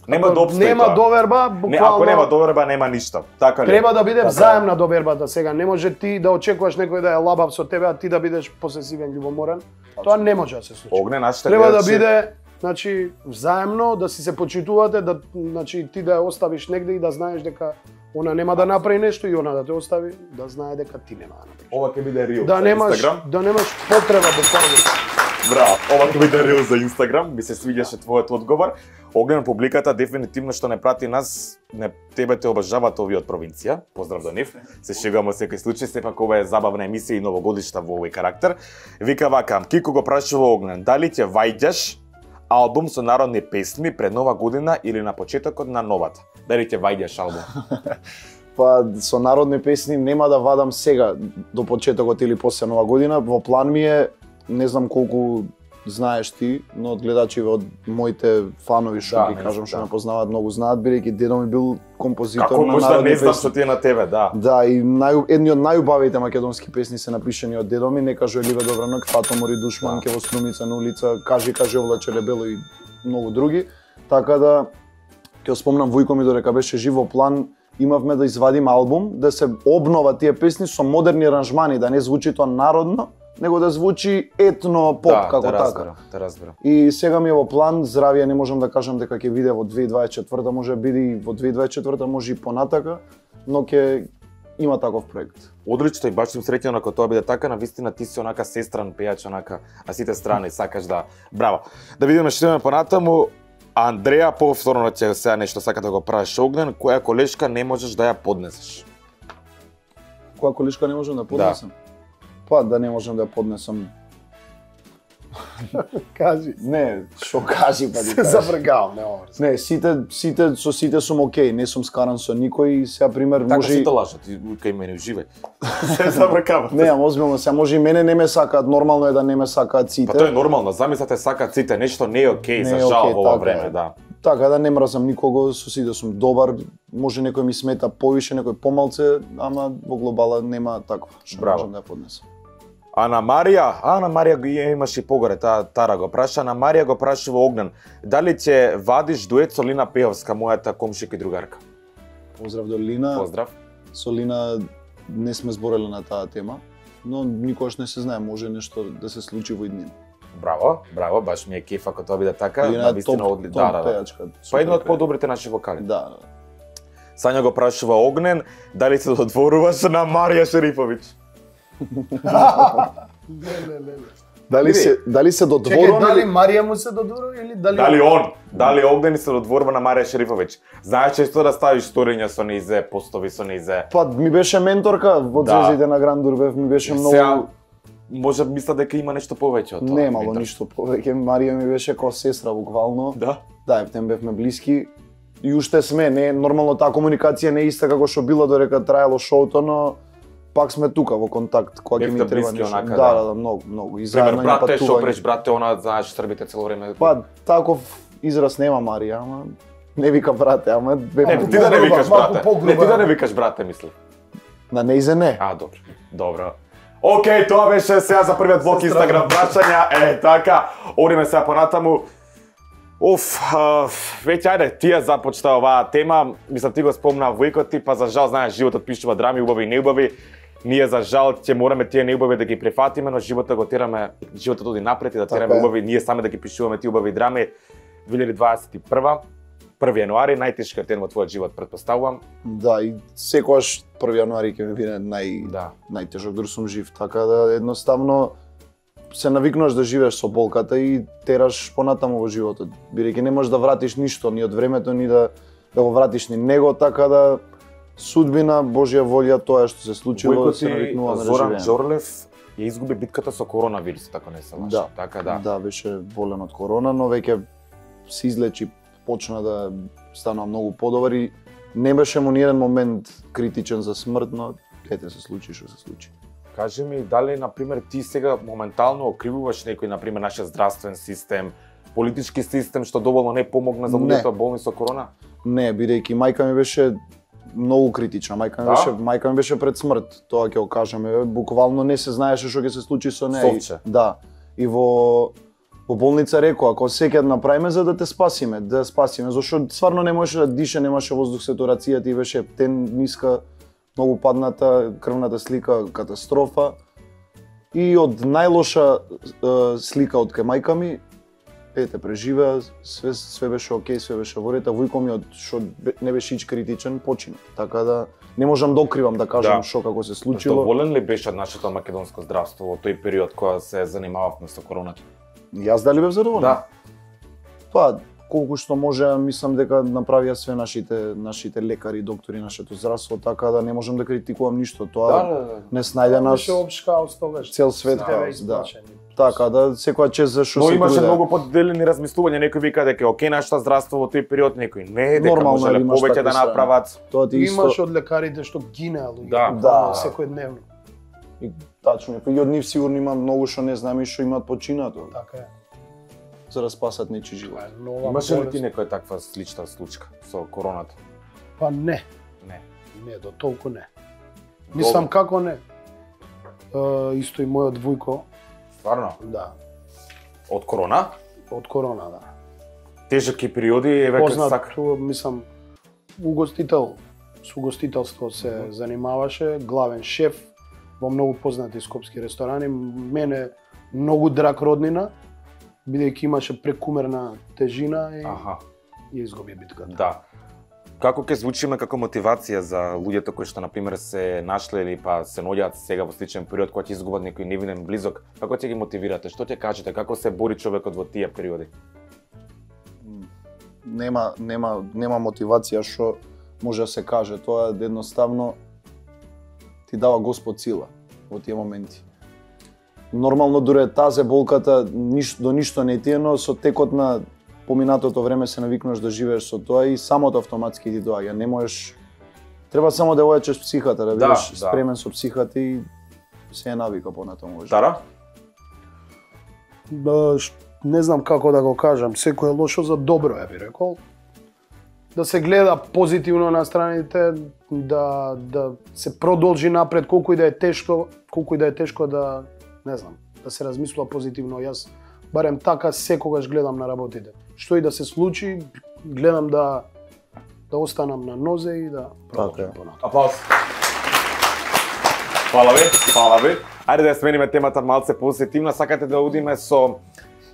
B: Нема да обстои
D: нема
B: тоа.
D: доверба,
B: Не,
D: буквално.
B: ако нема доверба, нема ништо. Така ли?
D: Треба да биде
B: Така е.
D: взаемна довербата сега. Не може ти да очекуваш некој да е лабав со тебе, а ти да бидеш посесивен, љубоморен. Тоа не може да се случи.
B: Огне, нашите
D: Треба да
B: гледачи-
D: биде, значи, взаемно, да си се почитувате, да, значи, ти да ја оставиш негде и да знаеш дека она нема да направи нешто и она да те остави, да знае дека ти нема да направиш.
B: Ова ќе биде рил
D: Да
B: за
D: немаш,
B: Инстаграм.
D: да немаш потреба буквално.
B: Браво, ова ќе биде рил за Инстаграм, ми се свиѓаше твојот одговор. Огнен публиката дефинитивно што не прати нас, не тебе те обожаваат овие од провинција. Поздрав до нив. Се шегуваме секој случај, сепак ова е забавна емисија и новогодишна во овој карактер. Вика вака, Кико го прашува Огнен, дали ќе ваѓаш албум со народни песни пред нова година или на почетокот на новата? Дали ќе ваѓаш албум?
C: Па со народни песни нема да вадам сега до почетокот или после нова година. Во план ми е, не знам колку знаеш ти, но од гледачи од моите фанови што
B: Да,
C: ги кажам што
B: да.
C: ме познаваат многу знаат, бидејќи дедо ми бил композитор
B: Како
C: на
B: може да
C: народни
B: не знам
C: песни.
B: што ти е на тебе, да.
C: Да, и едни од најубавите македонски песни се напишани од дедо ми, Не кажу Ливе Добранок, Фато мори душман,
B: Да.
C: ке во струмица на улица, Кажи облаче лебело и многу други. Така да ќе спомнам Војко ми додека беше жив во план, имавме да извадиме албум, да се обнова тие песни со модерни аранжмани, да не звучи тоа народно, него да звучи етно поп
B: Да,
C: како
B: те
C: така.
B: разберам, те разберам.
C: И сега ми е во план, здравје не можам да кажам дека ќе биде во 2024, може биде и во 2024, може и понатака, но ќе има таков проект.
B: Одлично и баш сум среќен ако тоа биде така, навистина ти си онака сестран пејач онака, а сите страни сакаш да. Браво. Да видиме што имаме понатаму. Андреја, повторно ќе сега нешто сака да го правиш Огнен, која колешка не можеш да ја поднесеш?
C: Која колишка не можам да поднесам? Па да не можам да ја поднесам.
D: Кажи.
C: Не, што кажи па
D: Се
C: ти.
D: зафркавам, не ова.
C: Не, сите со сите сум окей, не сум скаран со никој, сега пример
B: Така
C: може и
B: сите лажат, и кај мене уживај. Се забракавате.
C: не, озбилно, сега може и мене не ме сакаат, нормално е да не ме сакаат сите.
B: Па тоа е нормално, замислете сакаат сите, нешто не е окей,
C: Не
B: за
C: е
B: жал
C: окей,
B: во ова
C: така
B: време,
C: е.
B: да.
C: Така да не мразам никого, со сите сум добар, може некој ми смета повише, некој помалце, ама во глобала нема такво, што
B: Браво.
C: можам да ја поднесам.
B: Ана Марија го имаш и погоре, Тара го праша, Ана Марија го прашува Огнен, дали ќе вадиш дует со Лина Пеовска, мојата комшика и другарка?
C: Поздрав до Лина.
B: Поздрав.
C: Со Лина не сме збореле на таа тема, но никогаш не се знае, може нешто да се случи во иднина.
B: Браво, баш ми е кеф ако тоа биде така,
C: Лина е
B: навистина
C: топ,
B: одли,
C: топ
B: да.
C: пејачка.
B: Па
C: супер
B: едно од
C: пејачка.
B: подобрите наши вокали.
C: Да.
B: Сања го прашува Огнен, дали се додворуваш на Марија Шерифовиќ?
D: Не.
C: Дали се
D: Чекај,
C: додворуваме?
D: дали Марија му се додворува или
B: Дали Огнен се додворува на Марија Шерифовиќ? Знаеш често да ставиш сториња со неизе, постови со неизе.
C: Па ми беше менторка во
B: Да.
C: Звездите на Гран Дурбев, ми беше многу.
B: Сега, може мисля дека има нешто повеќе од тоа.
C: Немало
B: Митар.
C: ништо повеќе, Марија ми беше како сестра буквално.
B: Да?
C: Да, ептен бевме блиски. И уште сме, не нормално таа комуникација не е иста како што била додека траело шоуто, но пак сме тука во контакт кога ќе ми
B: Бевте
C: треба
B: блиски
C: нешто.
B: онака,
C: Да,
B: да.
C: да, многу. И
B: Пример,
C: заедно има
B: брате, што
C: патување.
B: преш, брате, она, знаеш, србите цело време.
C: Па таков израз нема Марија, ама не вика брате, ама
B: Не,
C: бевме
B: ти да не викаш
D: малку
B: брате.
D: погруба.
B: Не, ти да не викаш брате, мисли.
C: на неизе не.
B: А, добро. Добро. Океј, тоа беше сега за првиот блок Инстаграм прашања. Така, одиме сега понатаму. Веќе ајде, ти ја започна оваа тема. Мислам ти го спомна Војко ти, па за жал знаеш животот пишува драми, убави и неубави. Ние за жал ќе мораме тие неубави да ги префатиме, но животот го тераме, животот оди напред и да тераме
C: Така е.
B: убави, ние сами да ги пишуваме тие убави драми. 2021, 1 јануари, најтешкиот ден во твојот живот, претпоставувам.
C: Да, и секогаш 1 јануари ќе ми биде
B: Да.
C: најтежок дори сум жив, така да едноставно се навикнуваш да живееш со болката и тераш понатаму во животот. Бидејќи не можеш да вратиш ништо ни од времето, ни да го вратиш ни него, така да судбина, Божја волја, тоа што се случило,
B: Војко
C: се
B: ти,
C: навикнуваме да
B: Зоран
C: живееме.
B: Џорлев ја изгуби битката со коронавирусот, ако не се лажам.
C: Да.
B: Така да.
C: Да, беше болен од корона, но веќе се излечи, почна да станува многу подобар и не беше му ниеден момент критичен за смрт, но ете се случи што се случи.
B: Кажи ми, дали, например, ти сега моментално окривуваш некој, например, нашиот здравствен систем, политички систем, што доволно не помогна за
C: Не.
B: луѓето болни со корона?
C: Не, бидејќи мајка ми беше многу критична. Мајка ми беше пред смрт, тоа ќе го кажеме. Буквално не се знаеше што ќе се случи со неја.
B: Совче.
C: Да. И во во болница рекоа, ако секој направиме за да те спасиме, зашто стварно не можеше да дише, немаше воздух, сатурацијата и беше тен ниска, многу падната, крвната слика катастрофа. И од најлоша слика од кај мајка ми, ете, преживеа, све беше окей, све беше во ред, а војко ми од што не беше ич критичен, почина. Така да не можам да окривам да кажам што како се случило.
B: Доволен ли беше нашето македонско здравство во тој период кога се занимававме со короната?
C: Јас дали бев задоволен?
B: Да.
C: Па, колку што може, мислам дека направија све нашите лекари, доктори, нашето здравство, така да не можам да критикувам ништо. Тоа не снајде нас
D: Беше опшкаус тогаш.
C: цел свет хаос, да. Така да секоја чест за што се
B: имаше
C: труде.
B: многу поделени размислувања, некој вика дека окей нашето здравство во тој период, некој не, дека
C: Нормално
B: можеле
C: имаш
B: повеќе да
C: такви
B: направат.
C: Тоа ти исто.
D: Имаш од лекарите што гинеа луѓе.
B: Да.
D: Секојдневно.
C: И тачно, и од нив сигурно има многу што не знаме и што имаат починато
D: Така е.
C: за да спасат нечи живот.
D: Тоа е нова
B: Имаше ли
D: болест.
B: ти некоја таква слична случка со короната?
D: Па не.
B: Не.
D: Не, до толку не. Мислам како не. Исто и мојот вујко,
B: Стварно?
D: да,
B: Од корона?
D: од корона, да.
B: Тежки периоди, еве како
D: Познат,
B: сака.
D: мислам, угостител, со угостителство се занимаваше, главен шеф во многу познати скопски ресторани. Мене многу драг роднина, бидејќи имаше прекумерна тежина и
B: Аха,
D: ја изгуби битката.
B: да. Како ќе звучиме како мотивација за луѓето кои што на пример се нашле или па се наоѓаат сега во сличен период кога ќе изгубат некој невинен близок, како ќе ги мотивирате? Што ќе кажете? Како се бори човекот во тие периоди?
C: Нема мотивација што може да се каже, тоа едноставно ти дава Господ сила во тие моменти. Нормално дуре тазе болката до ништо не ти е, но со текот на поминатото време се навикнуваш да живееш со тоа и самото автоматски ти доаѓа. Не можеш, треба само да ојачеш психата, да бидеш спремен со психата и се е навика понатаму.
B: Тара?
D: Не знам како да го кажам, секој е лошо за добро, ја би рекол. Да се гледа позитивно на страните, да се продолжи напред, колку и да е тешко да, не знам, да се размислува позитивно. Јас барем така секогаш гледам на работите. Што и да се случи, гледам да останам на нозе и да продолжам понатаму.
B: Аплауз. Фала ви. Ајде да смениме темата малце позитивна. Сакате да одиме со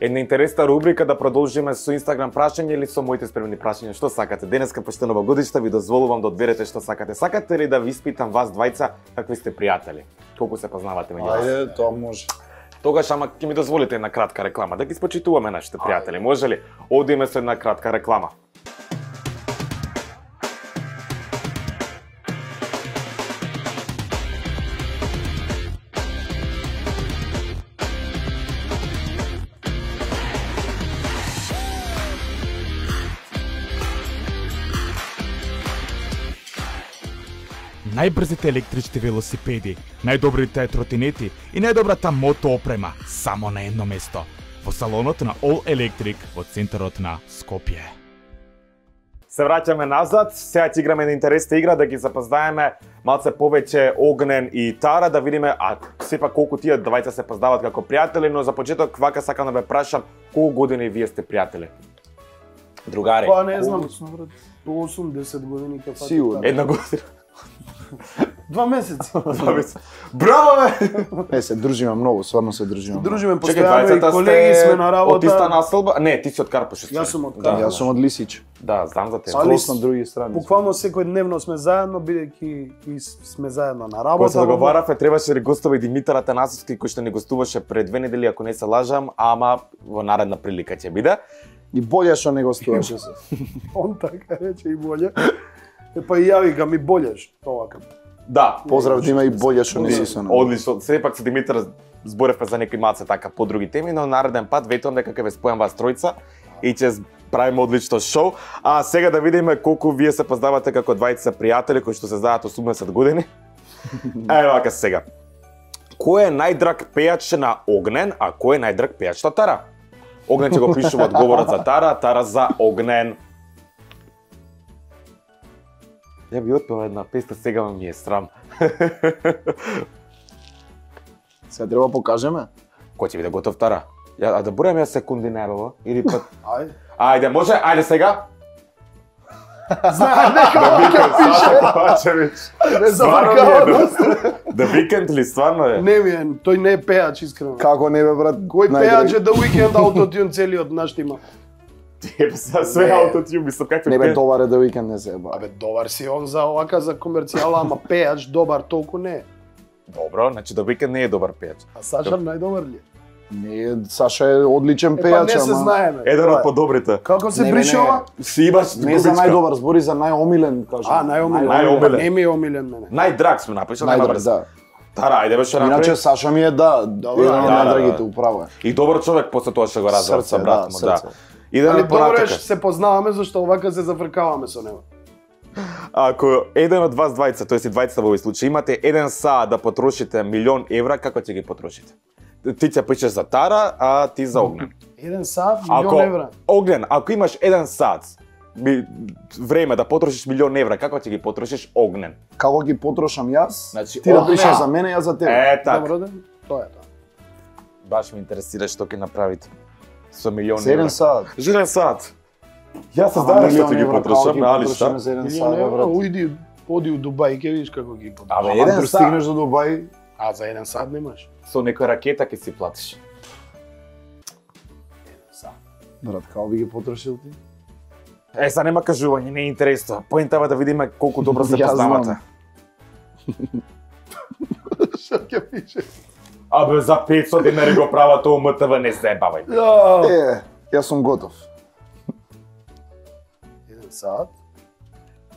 B: една интересна рубрика, да продолжиме со Инстаграм прашање или со моите спремни прашања? Што сакате? Денеска почте новогодишта ви дозволувам да одберете што сакате. Сакате ли да ви испитам вас двајца какви сте пријатели? Колку се познавате меѓу вас?
C: Ајде, тоа може.
B: Тогаш ама ќе ми дозволите една кратка реклама, да ги спочитуваме нашите пријатели. Може ли? Одиме со една кратка реклама.
E: Најбрзите електрични велосипеди, најдобрите тротинети и најдобрата мото опрема само на едно место. Во салонот на All Electric во центарот на Скопје.
B: Се враќаме назад, сега ќе играме една интересна игра, да ги запознаеме малце повеќе Огнен и Тара, да видиме, сепак колку тие двајца се познаваат како пријатели, но за почеток вака сакам да ве прашам, колку години вие сте пријатели? Другари?
D: Па не знам, 8-10 години ќе фати.
C: Сигурно.
B: Една година.
D: 2 месеци.
B: Браво, бе!
C: Не, се дружиме многу, стварно се дружиме.
D: Дружиме
B: Чекај,
D: постојано и
B: двајцата
D: колеги
B: сте
D: сме на работа.
B: од иста населба? Не, ти си од Карпош.
D: Јас сум од
B: Да,
D: Карпош.
C: Јас сум од Лисич.
B: Да, знам за тебе.
D: Али
C: Скрос на други страни.
D: Буквално секојдневно сме заедно, бидејќи и сме заедно на
B: Кога
D: работа.
B: се договаравме, требаше да гостува и Димитар Атанасовски, кој што ни гостуваше пред 2 недели, ако не се лажам, ама во наредна прилика ќе биде.
C: И боле што не гостуваше се.
D: Он така рече и боле. Па и ја викам и болеш, овака.
B: Да,
C: Поздрав да има и боле што не си со нас.
B: одлично. Сепак со Димитар зборевме за некои малце така подруги теми, но нареден пат ветувам дека ќе ве спојам вас тројца и ќе правиме одлично шоу. А сега да видиме колку вие се познавате како двајца пријатели кои што се знаат 80 години. Ево вака сега. Кој е најдраг пејач на Огнен, а кој е најдраг пејач на Тара? Огнен ќе го пишува одговорот за Тара, Тара за Огнен. Ја би отпела една песна, сега ми е срам.
C: Сега треба покажеме.
B: Кој ќе биде готов, Тара? А да бројам ја секунди небево или пат.
D: Ајде.
B: Ајде, може, ајде сега.
D: Знаеш дека ќе пише. Не завркава.
B: The Weeknd ли стварно е?
D: Не ми е, тој не е пеач искрено.
C: Како не бе брат?
D: Кој пеач е The Weeknd аутотюн целиот нашти има?
B: Све аутотюн, мислам какви
C: Не бе добар е The Weeknd не се еба.
D: Абе добар си он за овака за комерцијала, ама пеач добар толку не е.
B: Добро, значи The Weeknd не е добар пеач.
D: А Саша најдобар ли е?
C: Не, Саша е одличен
D: Па
C: пеач,
D: не се
C: ама
D: знаеме.
B: Еден од подобрите.
D: Како се
C: Не,
D: брише
C: не, не.
D: ова?
B: Си имаш
C: не за најдобар, збори за најомилен, кажам.
D: А, најомилен.
B: Најомилен.
D: Не ми е омилен мене.
B: Најдраг сме напишал, нема
C: Најдобар,
B: врска.
C: да.
B: Тара, ајде беше
C: Иначе
B: напред.
C: Саша ми е да,
D: Добро,
C: еден од
B: да,
C: најдрагите,
B: да.
C: управо е.
B: И добар човек после тоа што го развел
C: Срце,
B: со брат му, да.
C: срце.
D: Али
B: Идеме
D: добро е
B: понатака.
D: што се познаваме зашто овака се зафркаваме со него.
B: Ако еден од вас двајца, тоест и двајцата во овој случај, имате 1 саат да потрошите 1.000.000 евра, како ќе ги потрошите? Ти ќе пишеш за Тара, а ти за Огнен.
D: 1 сат, милион евра.
B: Огнен, ако имаш 1 сат време да потрошиш 1.000.000 евра, како ќе ги потрошиш Огнен?
C: Како ги потрошам јас,
B: Значи,
C: ти да
B: Огнен.
C: пишеш за мене, јас за тебе.
B: Е, така.
D: Добро да, тоа е тоа.
B: Баш ме интересира што ќе направите со 1.000.000
C: За еден
B: евра.
C: саат.
B: За 1 сат. Јас се
C: Ама
B: знаеш што
C: милион
B: ќе ги
C: евра, како
B: потрошам,
C: ги
B: нали
C: потрошиме
B: шта?
C: за еден
D: Милион
C: саат,
D: евра,
C: брат.
D: оди у Дубај, ќе видиш како ги потрошам.
B: Абе,
C: Ама
B: еден
C: пристигнеш
B: сат
C: до Дубај,
D: А за 1 сат немаш.
B: со некоја ракета ќе си платиш.
C: брат, како би ги потрошил ти?
B: Е, са нема кажување, не е интересно. Поентава е да видиме колку добро се
C: Јас знам.
B: познавате.
D: Што ќе пише?
B: Абе, за 500 денари го прават тоа МТВ, не се бавај.
C: Е, јас сум готов.
D: 1 сат,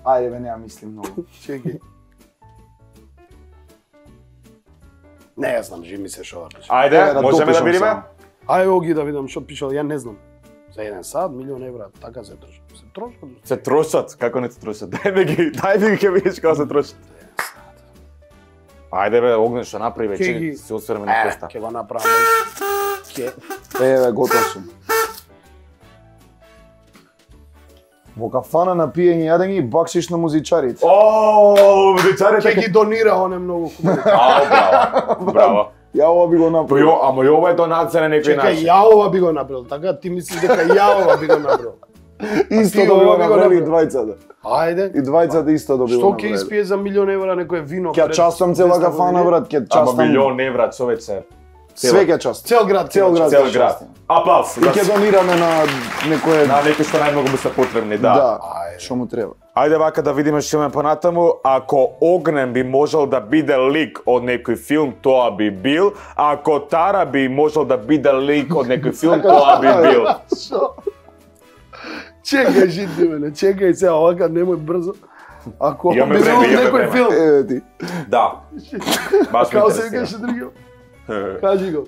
C: Ајде бе, нема мислим многу.
D: чекај. Не, јас знам, живи ми се шо да пише.
B: Ајде,
C: да
B: можеме да
C: допишам
B: видиме?
C: само.
D: Ај оги да видам што пишал, ја не знам. За 1 сат, милион евра, така се трошат. Се трошат.
B: Се трошат, како не се трошат? Дај ми ги ќе видиш како се трошат. Ајде бе, Огнен што направи
D: Ќе
B: вече,
D: ги-
B: се осврме на коста.
D: Ќе го направам. Ќе.
C: Еве, готов сум. Во кафана на пиење и јадење и бакшиш на музичарите.
B: О, музичарите
D: Ќе ги донира, он е многу хубаво.
B: Ао, браво. Браво.
C: Ја ова би го направил.
B: Ама и ова е донација на некој
D: Чекај,
B: начин.
D: ја ова би го направил, така ти мислиш дека ја ова би го направил.
C: Исто
D: ти
C: да
D: ова
C: го
D: би го
C: направи и
D: направил.
C: двајцата.
D: Ајде.
C: И двајцата исто да би
D: Што
C: го
D: ќе
C: направили.
D: испие за милион евра некое вино?
C: Ќе
D: пред
C: частам цела
D: 200
C: кафана,
D: години?
C: брат, ќе
B: Ама
C: частам.
B: милион евра, човече.
C: Све ќе частам.
D: Цел град,
C: Цел град.
B: Цел
C: ќе
B: град.
C: частам.
B: Аплауз.
C: И ќе донираме на некое...
B: На некои што најмногу му се потребни, да.
C: Да, што му треба.
B: Ајде вака да видиме што имаме понатаму. Ако Огнен би можел да биде лик од некој филм, тоа би бил. Ако Тара би можел да биде лик од некој филм, тоа би бил.
D: Шо? Чекај, жити мене, чекај се, овака немој брзо. Ако
B: Имаме
D: би
B: време,
D: бил
B: имаме
D: некој
B: време.
D: филм,
C: Еве ти.
B: Да. Баш ме
D: како се
B: интересира.
D: викаше другиот? Кажи го.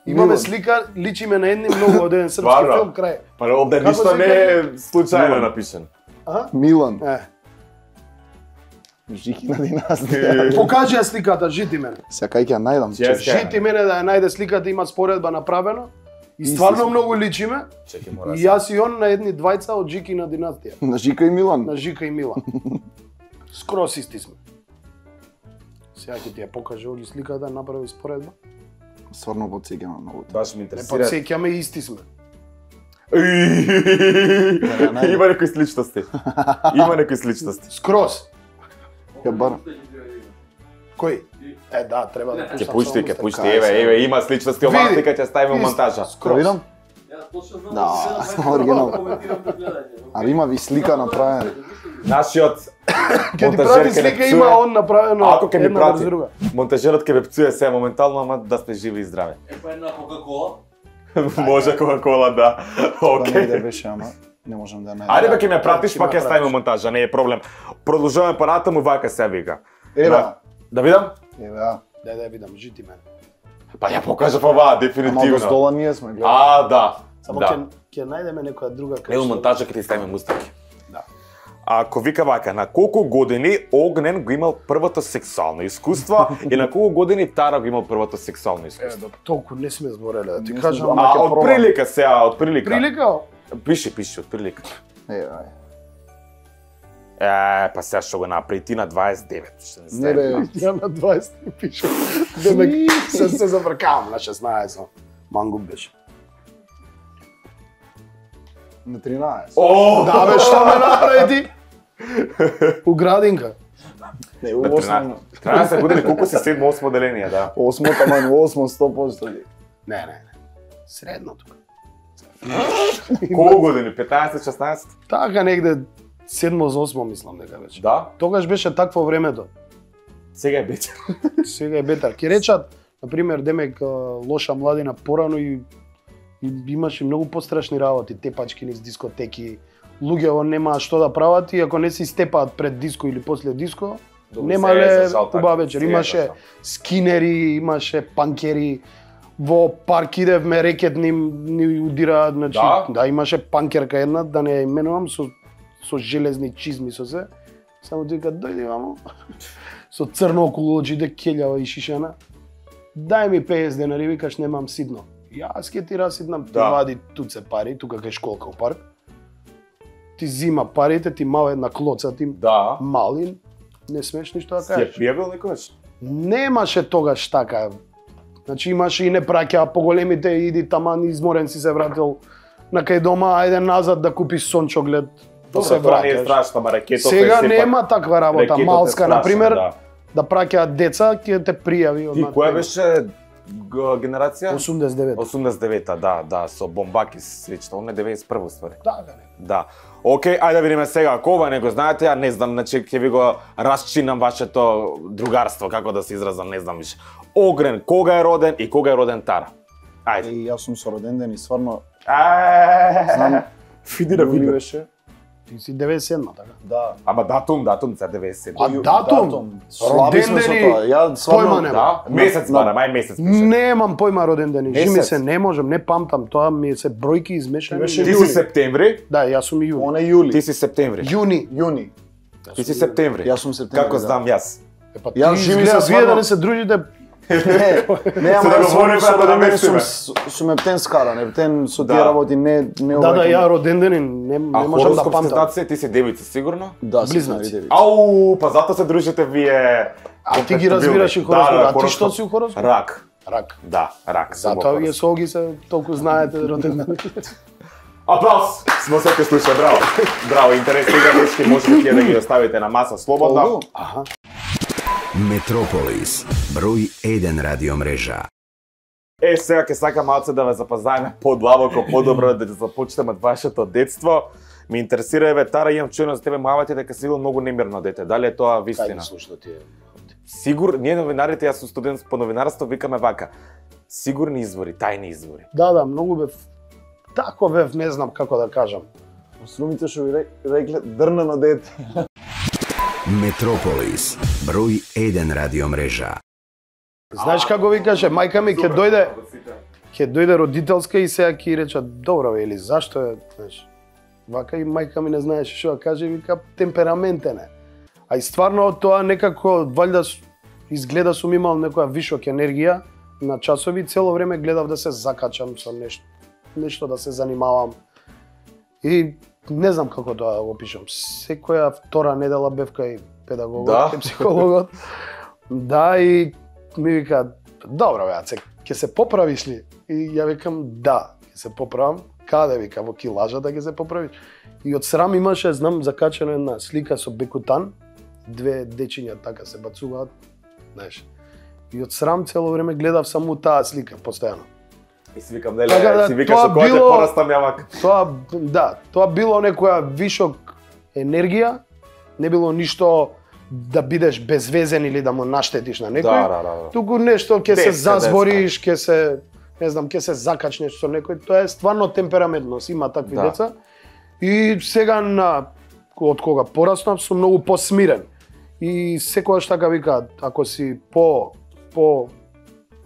D: Имаме
C: Милан.
D: слика, личиме на едни многу од еден српски
B: Стварно?
D: филм, крај.
B: Па овде
D: Како
B: ништо
D: се
B: не е случајно
C: Милан.
B: напишано.
C: Милан.
D: Е,
C: Жики на династија.
D: покажи ја сликата, жити мене.
C: Сакај ќе ја најдам.
B: Чекај.
D: Жити мене да ја најде сликата, има споредба направено. И стварно многу личиме.
B: Чекај, мора.
D: И јас и он на едни двајца од Жики на династија.
C: На Жика и Милан.
D: На Жика и Мила. Скрос исти сме. Сега ќе ти ја покаже оги сликата, направи споредба.
C: Стварно потсеќаме многу.
B: Баш ме
D: Не
B: интересира.
D: подсеќаме, исти сме.
B: Има некои сличности. Има некои сличности.
D: Скрос.
C: Ја барам.
D: Кој? Е, да, треба да
B: Ќе
D: пуштам
B: пушти,
D: само
B: ќе
D: устата.
B: пушти. Еве, има сличности, оваа
D: Види.
B: слика ќе ставиме у монтажа.
C: Да
D: Скрос.
C: видам? Да, оригинал. А има ви слика направена.
B: Нашиот
D: Ќе ти
B: монтажер
D: прати
B: ќе
D: слика,
B: ме
D: има
B: пцуе.
D: он направено
B: Ако ќе ми
D: една врз
B: прати,
D: друга.
B: монтажерот ќе ме пцуе се моментално, ама да сте живи и здрави.
F: Па една Кока-Кола.
B: Може Кока-Кола, да.
C: Тоа не
B: Окей.
C: да беше, ама не можам да ја најдам.
B: Ајде бе ќе ме пратиш,
D: Ќе
B: па
D: ме
B: ќе ставиме
D: пратиш.
B: монтажа, не е проблем. Продолжуваме понатаму, вака се вика.
C: Еве,
B: Да видам?
C: еве, а.
D: Да видам, жити мене.
B: Па ја покажав оваа,
C: Ама
B: дефинитивно.
C: од стола ние сме, гледај.
B: А, да.
D: Само
B: Да.
D: ќе најдеме некоја друга кај
B: Ево
D: што-
B: монтажа ќе ти ставиме мустаки.
D: Да.
B: Ако вика вака, на колку години Огнен го имал првото сексуално искуство и на колку години Тара го имал првото сексуално
D: Е,
B: искуство?
D: да, толку не сме збореле, да ти
C: Не
D: кажам.
C: сме, ама
B: А,
C: ќе
B: од
C: пробам.
B: прилика сега, од прилика.
D: Прилика?
B: Пиши, од прилика.
C: Еве, ај.
B: Па сега што го направи ти на 29, што не
C: Не
B: знам.
C: бе,
D: Ја на 20 пишам. Демек се завркавам на 16. Мангуп беше.
C: На 13.
B: О,
D: Да бе, што ме направи ти? У градинка.
C: Не,
B: на 13 години колку си 7-8 деление, да.
C: 8 таман, 8 100%.
D: Не. Средно тука.
B: Колку години? 15-16?
D: Така негде 7-8 мислам дека беше.
B: Да.
D: Тогаш беше такво времето.
B: Сега е бетер.
D: Сега е бетар. Ке речат, например, демек лоша младина порано и имаше многу пострашни работи, тепачки низ дискотеки. Луѓето немаа што да прават и ако не се степаат пред диско или после диско, немале убава вечер. Имаше скинери, имаше панкери. Во парк идевме, рекет ни удираат, значи, да, имаше панкерка една, да не ја именувам, со железни чизми со се. Само ти вика, дојди мамо. Со црно околу очите, келјава и шишена. Дај ми 50 денари, викаш немам сидно. Јас ке ти расиднам, ти вади туце пари, тука кај школка у парк. Ти зима парите, ти мал една клоца, ти малин, не смеш ништо да кажеш.
B: Си ја пријавил некојаш?
D: Немаше тогаш така. Значи имаше и не праќаа поголемите, иди таман изморен си се вратил на кај дома, ајде назад да купиш сончоглед, да се
B: Тоа не е
D: враќаш.
B: страшно, ама ракетот
D: Сега
B: е
D: нема таква работа. Малска, например,
B: да
D: праќаат деца, ќе те пријави.
B: И која беше генерација?
D: 89.
B: 89-та, да, со бомбаки слично, он е 91 ствари.
D: Така не.
B: Да. Океј, ајде да видиме сега, ако ова не го знаете, ја не знам, значи ќе ви го расчинам вашето другарство, како да се изразам, не знам више. Огрен, кога е роден и кога е роден Тара? Ајде.
C: И јас сум со роден ден и стварно
B: Знам, види да види.
C: беше.
D: Ти си 97, така?
C: Да.
B: Ама датум за 97.
D: А датум?
C: Слаби сме со тоа. Ја стварно
D: Појма нема.
B: Да, месец бара, мај месец пише.
D: Немам појма роден ден. Жими
B: Месец?
D: се, не можам, не памтам, тоа ми се бројки измешани.
B: Ти си септември,
D: Да, јас сум и јуни.
C: Он е јули.
B: ти си септември.
C: Јуни.
B: Ти си септември.
C: Јас сум септември.
B: Како знам јас?
D: Па ти
C: Јас Жими се
D: изгледа, вие да
C: стварно-
D: не се дружите,
C: Не, ама
B: да
C: јас
B: говориме,
C: со
B: да
C: роден ден
B: наместиме.
C: сум ептен скаран, ептен со тие
B: Да.
C: работи не
D: да, ја роден ден не
B: А
D: можам да
B: хороскоп
D: памтам.
B: стација, ти си девица, сигурно?
C: Да,
D: Близнаци.
B: Ау, па затоа се дружите вие.
D: А ти ги разбираш и хороскоп, а ти што си у хороскоп?
B: Рак.
D: Рак.
B: Да, рак.
D: Затоа вие со Оги се толку знаете роден ден.
B: Аплауз! Смо се те слуша, браво. Браво, интересни играчки, можете да ги оставите на маса слободно.
D: Аха.
A: Метрополис, број 1 радиомрежа.
B: Сега ќе сакам малце да ве запознаеме подлабоко, подобро да започнеме од вашето детство. Ме интересира, еве, Тара, имам чуено за тебе мавати дека си бил многу немирно дете. Дали е тоа
D: Кај
B: вистина?
D: ги слушна тие?
B: Сигур, ние новинарите, јас сум студент по новинарство, викаме вака. Сигурни извори, тајни извори.
D: Да, многу бев. Тако бев, не знам како да кажам.
C: Струмите што ви рекле дрнено дете.
A: Метрополис, број 1 радиомрежа.
D: Знаеш како ви каже, мајка ми ќе дојде родителска и сега ќе рече, добро бе, или зашто е, знаеш. Вака и мајка ми не знаеше што да каже, вика темпераментен е. А и стварно тоа некако валјда изгледа сум имал некоја вишок енергија на часови, цело време гледав да се закачам со нешто да се занимавам. И не знам како тоа да го опишам. Секоја втора недела бев кај педагогот, кај психологот. Да, и ми вика, добро бе, Аце, ќе се поправиш ли? И ја викам, да, ќе се поправам. Каде, вика, во килажата ќе се поправиш? И од срам имаше, знам, закачена една слика со бекутан, две дечиња така се бацуваат, знаеш. И од срам цело време гледав само таа слика, постојано.
B: И си викам, нели,
D: Така да,
B: си викаш
D: тоа
B: со која те
D: било-
B: порастам јавак.
D: Тоа било некоја вишок енергија, не било ништо да бидеш безвезен или да му наштетиш на некој.
B: Да.
D: Туку нешто ќе се
B: Детска,
D: забориш, ќе се, не знам, ќе се закачнеш со некој. Тоа е стварно темпераментност, има такви
B: Да.
D: деца. И сега од кога пораснав сум многу посмирен. И секогаш така викаат, ако си по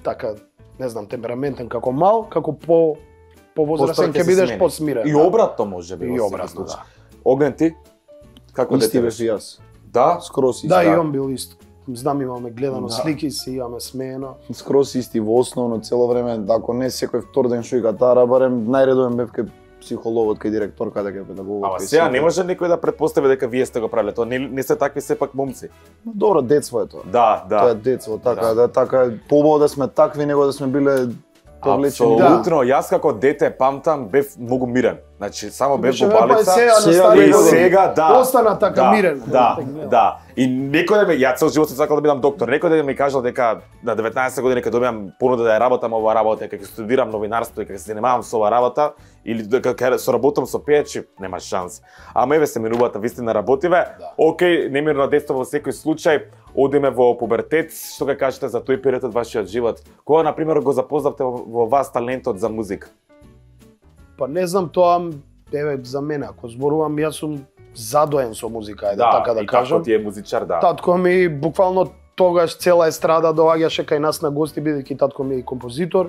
D: така, не знам, темпераментен како мал, како повозрасен ќе бидеш посмирен.
B: И обратно може би.
D: И
B: во
D: обратно,
B: секој случај.
D: да.
B: Огнен ти? Како
C: Исти
B: дете
C: беше
B: беше?
C: јас.
B: Да?
C: Скрос исти.
D: Да, и он бил ист. Знам, имаме гледано
C: Да.
D: слики си, имаме смеено.
C: Скрос исти во основно цело време, ако не секој втор ден што и Тара, барем најредовен бев кај психологот, кај директорката, кај педагогот.
B: Ама
C: кај
B: сега
C: сите.
B: не може никој да претпостави дека вие сте го правиле тоа. Не се такви сепак момци.
C: Добро, детство е тоа.
B: Да.
C: Тоа е детство, така
B: Да.
C: да така е побаво да сме такви него да сме биле повлечени.
B: Апсолутно, јас како дете памтам бев многу мирен. Значи само бев во балица
C: и
B: сега да.
D: Остана така мирен.
B: Да. И некој да ме, ја цел живот сум сакал да бидам доктор. Некој да ми кажал дека на 19 години кога добиам понуда да ја работам оваа работа, дека ќе студирам новинарство и дека се занимавам со оваа работа или дека ќе соработам со пејачи, нема шанс. Ама еве се минуваата вистина работиве. Океј, немирно детство во секој случај. Одиме во пубертет, што ќе кажете за тој период од вашиот живот? Кога на пример го запознавте во вас талентот за музика?
D: Па не знам тоа, еве за мене, ако зборувам, јас сум задоен со музика, така да кажам.
B: Да, и како ти е музичар, да.
D: Татко ми буквално тогаш цела естрада доаѓаше кај нас на гости, бидејќи татко ми е композитор.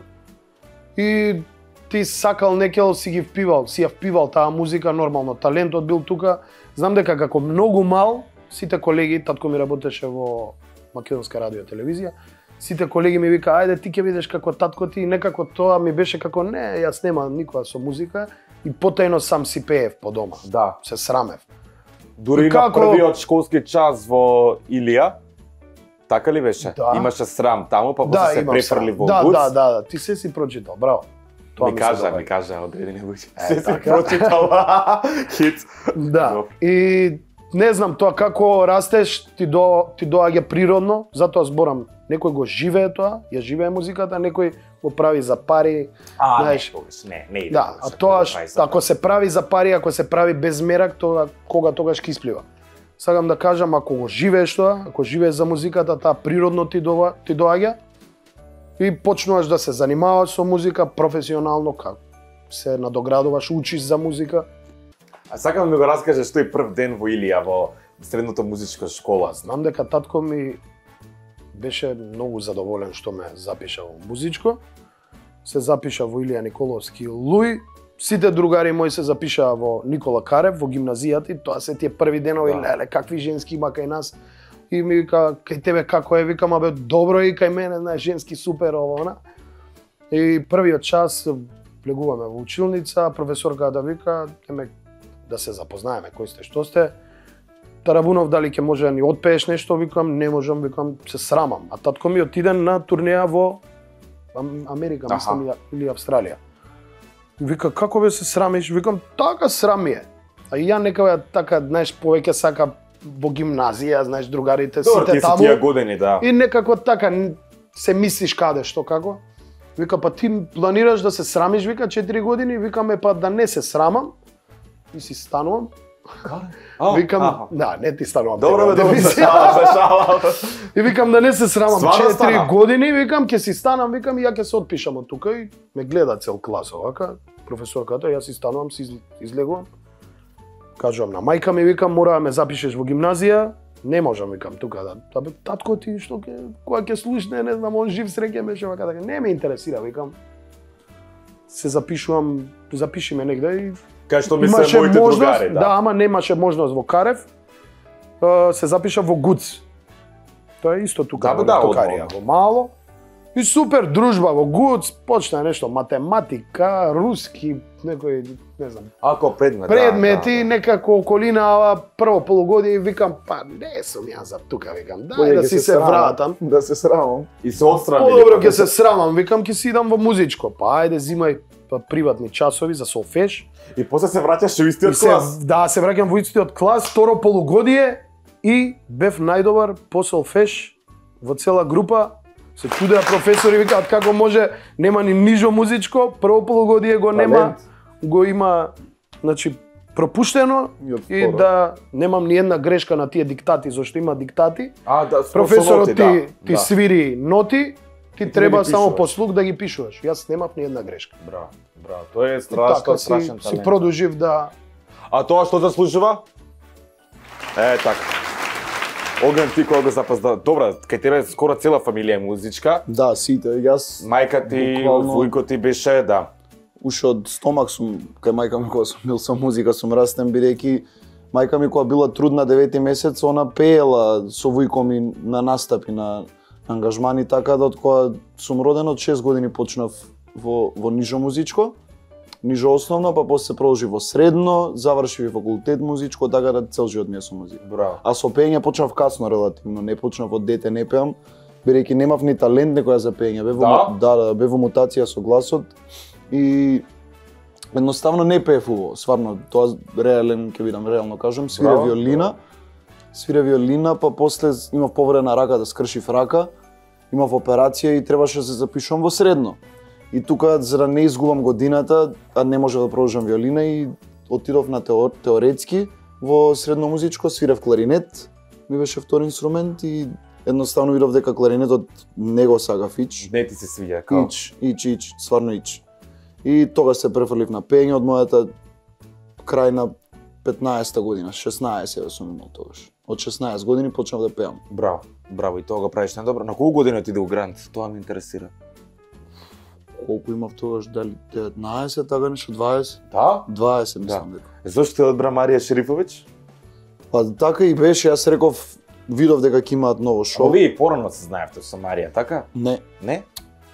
D: И ти сакал некел си ја впивал таа музика, нормално талентот бил тука. Знам дека како многу мал, сите колеги, татко ми работеше во Македонска радио и телевизија, сите колеги ми вика, ајде ти ќе видиш како татко ти, некако тоа ми беше како не, јас нема никога со музика и потајно сам си пеев по дома.
B: Да.
D: Се срамев.
B: Дури на првиот школски час во Илија, така ли беше?
D: Да.
B: Имаше срам таму, па после се префрли во Буц.
D: Да, ти се си прочитал, браво.
B: Ми кажа одредени луѓе. Се си прочитал. Хит.
D: Да. И не знам, тоа како растеш, ти доаѓа природно, затоа зборам, некој го живее тоа, ја живее музиката, некој го прави за пари, знаеш.
B: Не иде.
D: Да, а тоа ако се прави за пари, ако се прави без мерак, тоа тогаш ќе исплива. Сакам да кажам, ако го живееш тоа, ако живееш за музиката, таа природно ти доаѓа и почнуваш да се занимаваш со музика професионално, како се надоградуваш, учиш за музика.
B: А сакам да ми го раскажеш тој прв ден во Илија, во средното музичка школа.
D: Знам дека татко ми беше многу задоволен што ме запиша во музичко. Се запиша во Илија Николовски Луј. Сите другари мои се запишаа во Никола Карев, во гимназијата, и тоа се тие први денови, леле, какви женски има кај нас. И ми вика, кај тебе како е, викам, абе, добро и кај мене, знаеш, женски супер, ово, она. И првиот час влегуваме во училница, професорка да вика, да се запознаеме, кој сте, што сте. Тарабунов, дали ќе може да ни отпееш нешто, викам, не можам, викам, се срамам. А татко ми отиде на турнеја во Америка, мислам, или Австралија. Вика, како бе се срамиш? Викам, така срам ми е. А и ја некако така, знаеш, повеќе сака во гимназија, знаеш, другарите, сите таму.
B: Тие години, да.
D: И некако така се мислиш каде, што како. Вика, па ти планираш да се срамиш, вика, 4 години, викаме, па да не се срамам. И си станувам. Викам, да, не ти станувам.
B: Добро,
D: шала. И викам да не се срамам. 4 години, викам, ќе си станам, викам, и ја ќе се отпишам од тука и ме гледа цел клас, овака, професорката, јас си станувам, си излегувам. Кажувам на мајка ми, викам, мора да ме запишеш во гимназија. Не можам, викам, тука да. Абе, татко ти, што кога ќе слушне, не знам, он жив среќен беше, вака така. Не ме интересира, викам. Се запишувам, запиши ме негде и
B: кај што мисле моите другари, да.
D: Да, ама немаше можност во Карев. Се запиша во ГУЦ. Тоа е исто тука, во Токарија, во мало. И супер дружба во ГУЦ, почна нешто математика, руски, некој, не знам.
B: Ако
D: предмети, некако околина, прво полугодие, викам, па не сум јас за тука, викам, дај да си се вратам.
C: Да се срамам.
B: И се отстрани.
D: Подобро ќе се срамам, викам, ќе си идам во музичко. Па ајде, зимај приватни часови за солфеж.
B: И после се враќаш во истиот клас?
D: Да, се враќам во истиот клас, второ полугодие и бев најдобар по солфеж во цела група. Се чудеа професори, викаат како може, нема ни нижо музичко, прво полугодие го нема, го има, значи, пропуштено и да немам ни една грешка на тие диктати, зашто има диктати.
B: Да,
D: професорот ти свири ноти, ти треба само по слух да ги пишуваш. Јас немав ни една грешка.
B: Браво, тоа е страшно, страшен талент.
D: Си продолжив да...
B: А тоа што заслужува? Така. Огнен, ти кога го запазда, добра, кај тебе скоро цела фамилија е музичка.
C: Да, сите, јас...
B: Мајка ти, војко ти беше, да.
C: Уште од стомак сум, кај мајка ми кога сум бил со музика, сум растен, бидејќи мајка ми кога била трудна 9 месец, она пеела со војко ми на настапи, на ангажмани, така да од кога сум роден од 6 години почнав во нижо музичко. Нижо основно, па после се продолжи во средно, завршив и факултет музичко, така да цел живот ми е со музика.
B: Браво.
C: А со пеење почнав касно релативно, не почнав од дете, не пеам. Бидејќи немав ни талент некоја за пеење, бев во мутација со гласот и едноставно не пеев убаво, стварно, тоа реално кажам, свира виолина, па после имав повреда на рака, да скршив рака, имав операција и требаше да се запишувам во средно. И тука, за да не изгубам годината, а не може да продолжам виолина и отидов на теоретски во средно музичко, свирев кларинет, ми беше втори инструмент и едноставно видов дека кларинетот не го сагав ич.
B: Не ти се свиѓа, као?
C: Ич, стварно ич. И тогаш се префрлив на пеење од мојата крај на 15-та година, 16 сум имал тогаш. Од 16 години почнав да пеам.
B: Браво, и тоа го правиш најдобро. На колку години отиде у Грант? Тоа ме интересира.
C: Колку имав тогаш, дали 19, така нешто, 20?
B: Да?
C: 20 мислам дека.
B: Зошто те одбра Марија Шерифовиќ?
C: Па така и беше, јас реков, видов дека ќе имаат ново шоу.
B: Вие порано се знаевте со Марија, така?
C: Не.
B: Не?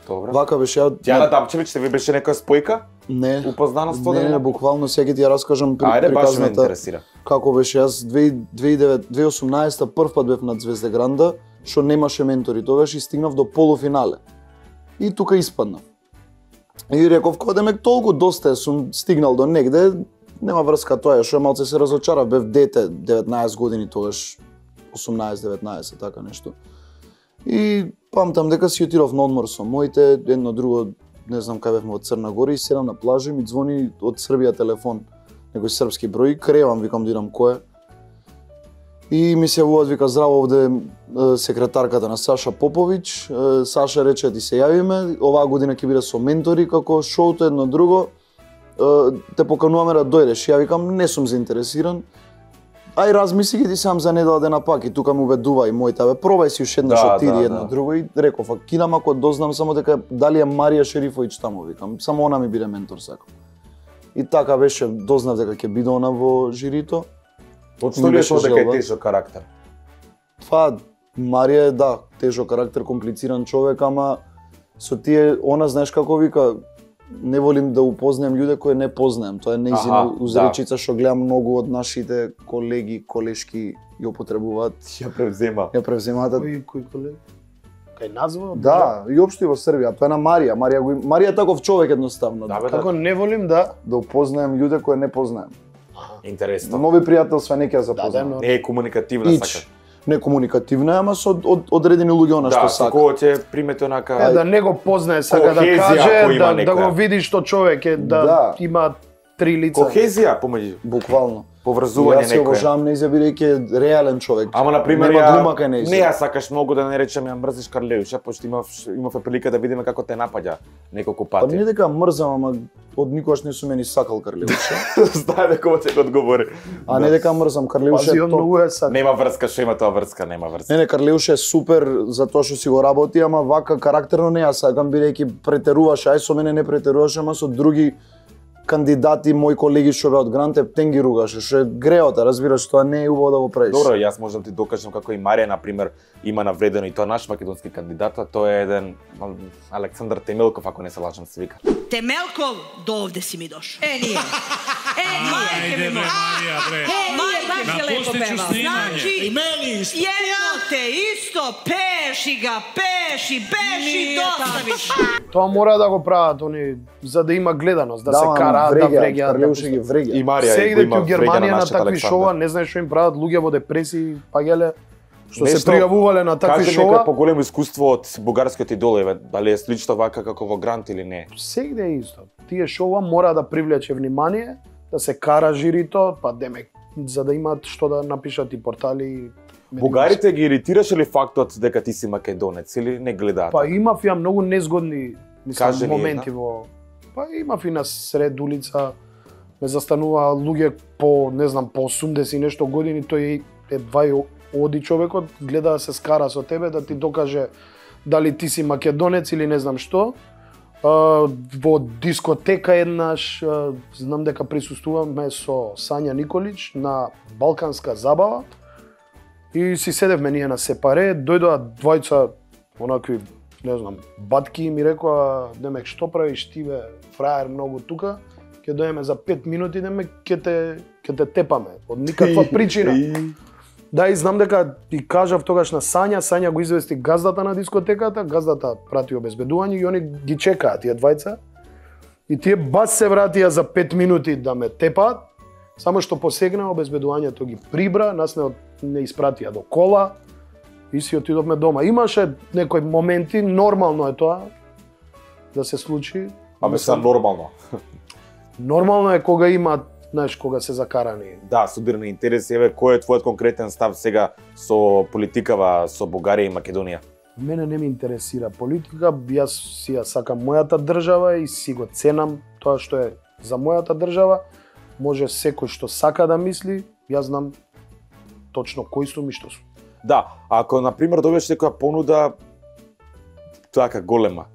B: Добро.
C: Вака беше ја...
B: Јана Дапчевиќ, ви беше некоја спојка?
C: Не.
B: Упознаноство?
C: Не, буквално сега ќе ти ја раскажам
B: Ајде, баш ме
C: приказната.
B: интересира.
C: Како беше, јас 2018 прв пат бев на Звезде Гранда, што немаше ментори тогаш и стигнав до полуфинале. И тука испаднав. И реков, кога демек толку доста сум стигнал до негде, нема врска тоа, што малце се разочарав, бев дете, 19 години тогаш, 18-19, така нешто. И памтам дека си отидов на одмор со моите, едно друго, не знам кај бевме од Црна Гора и седам на плажа и ми звони од Србија телефон, некој српски број, кревам, викам да идам кој е. И ми се јавуваат, вика, здраво, овде секретарката на Саша Поповиќ. Саша рече ти се јавиме, оваа година ќе биде со ментори, како шоуто едно друго. Те покануваме да дојдеш. Ја викам, не сум заинтересиран. Ај размисли ги ти сам за недела дена пак и тука му убедува и моите, пробај си уште еднаш отиди едно друго и реков, кидам ако дознам само дека дали е Марија Шерифовиќ таму, викам, само она ми биде ментор сакам. И така беше, дознав дека ќе биде она во жирито.
B: Што ли е тоа дека е тежок карактер?
C: Па, Марија е, да, тежок карактер, комплициран човек, ама со тие, она знаеш како вика, не волим да упознаем луѓе кои не познаем. Тоа е нејзина узречица што гледам многу од нашите колеги, колешки ја употребуваат.
B: Ја превземаат.
D: Кој колеги? Кај назва?
C: Да, и општо и во Србија. Тоа е на Марија. Марија е таков човек едноставно.
D: Како не волим да
C: упознаем луѓе кои не познаем.
B: Интересно.
C: Нови пријателства не ќе запознаем.
B: Не е комуникативна сака.
C: Не комуникативна, ама со одредени луѓе она што сака.
B: Да, кога ќе примете онака...
D: Да не го познае, сака да каже, да го види што човек е, да има три лица.
B: Кохезија помеѓу.
C: Буквално.
B: Поврзување некој.
C: Јас ја обожавам Нејза бидејќи е реален човек.
B: Ама на пример
C: не
B: ја сакаш многу да не речем ја мрзиш Карлеуша, пошто имавме прилика да видиме како те напаѓа неколку пати.
C: Па не дека мрзам, ама од никогаш не сум ни сакал Карлеуша.
B: Знае дека ќе го одговори.
C: А не дека мрзам Карлеуша.
D: Пази, многу е сакал.
B: Нема врска, што има тоа врска, нема врска.
C: Не, Карлеуша е супер за тоа што си го работи, ама вака карактерно не ја сакам бидејќи претеруваш, ај со мене не претеруваш, ама со други кандидати, мои колеги што беа од Грант, тен ги ругаше, што е греота, разбираш, тоа не е убаво да го правиш.
B: Добро, јас можам да ти докажам како и Марија, на пример, има навредено и тоа наш македонски кандидат, тоа е еден Александар Темелков, ако не се лажам се вика.
F: Темелков, до овде си ми дошо. Ние.
G: Ајде бе, Марија, бре. Напусти ću snimanje.
F: Значи, едно те исто, пеши ga, пеши, беши, доставиш.
D: Тоа мора да го прават они за да има гледаност, да се караат, да вреѓаат.
C: Карлеуша ги вреѓа.
B: И Марија
D: Сегде
B: има
D: во Германија на такви
B: Александар.
D: шоа, не знаеш што им прават луѓе во депресии, паѓале што се пријавувале на такви
B: Кажи
D: шоа.
B: нека поголемо искуство од бугарскиот идол, еве, дали е слично вака како во Грант или не?
D: Сегде е исто. Тие шоа мора да привлече внимание, да се кара жирито, па демек за да имаат што да напишат и портали.
B: Бугарите ги иритираше ли фактот дека ти си македонец или не гледаат?
D: Па имав ја многу незгодни
B: Кажи ни
D: моменти во. Па имав и на сред улица ме застанува луѓе по, не знам, по 80 и нешто години, тој едва и оди човекот, гледа да се скара со тебе, да ти докаже дали ти си македонец или не знам што. Во дискотека еднаш, знам дека присуствуваме со Сања Николич на Балканска забава и си седевме ние на сепаре, дојдоа двајца онакви, не знам, батки и ми рекоа, демек што правиш ти бе, фраер многу тука, ќе дојдеме за 5 минути, демек ќе те тепаме, од никаква причина. Да, и знам дека и кажав тогаш на Сања го извести газдата на дискотеката, газдата прати обезбедување и они ги чекаат тие двајца. И тие бас се вратија за 5 минути да ме тепаат, само што посегна обезбедувањето ги прибра, нас не испратија до кола и си отидовме дома. Имаше некои моменти, нормално е тоа да се случи.
B: Абе са нормално.
D: Нормално е кога има, знаеш, кога се закарани.
B: Да, судирни интереси, еве кој е твојот конкретен став сега со политикава со Бугарија и Македонија?
D: Мене не ме интересира политика, јас си ја сакам мојата држава и си го ценам тоа што е за мојата држава. Може секој што сака да мисли, јас знам точно кој сум и што сум.
B: Да, ако на пример добиеш некоја понуда така голема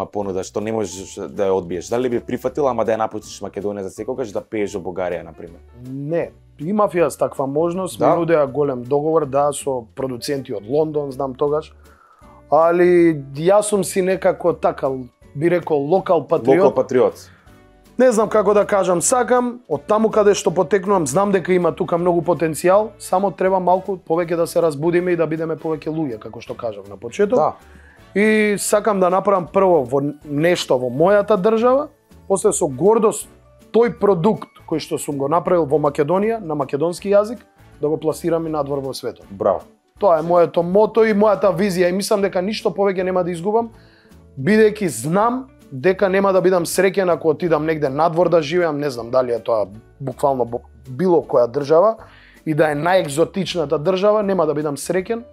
B: понуда што не можеш да ја одбиеш, дали би прифатила, ама да ја напуштиш Македонија за секогаш да пееш во Бугарија на пример?
D: Не, имав јас таква можност,
B: да?
D: Ми нудеа голем договор, да, со продуценти од Лондон, знам тогаш. Али јас сум си некако така, би рекол, локал патриот.
B: Локал патриот.
D: Не знам како да кажам, сакам, од таму каде што потекнувам, знам дека има тука многу потенцијал, само треба малку повеќе да се разбудиме и да бидеме повеќе луѓе, како што кажав на почеток.
B: Да.
D: И сакам да направам прво во нешто во мојата држава, после со гордост тој продукт кој што сум го направил во Македонија, на македонски јазик, да го пласирам и надвор во светот.
B: Браво.
D: Тоа е моето мото и мојата визија и мислам дека ништо повеќе нема да изгубам, бидејќи знам дека нема да бидам среќен ако отидам негде надвор да живеам, не знам дали е тоа буквално било која држава и да е најекзотичната држава, нема да бидам среќен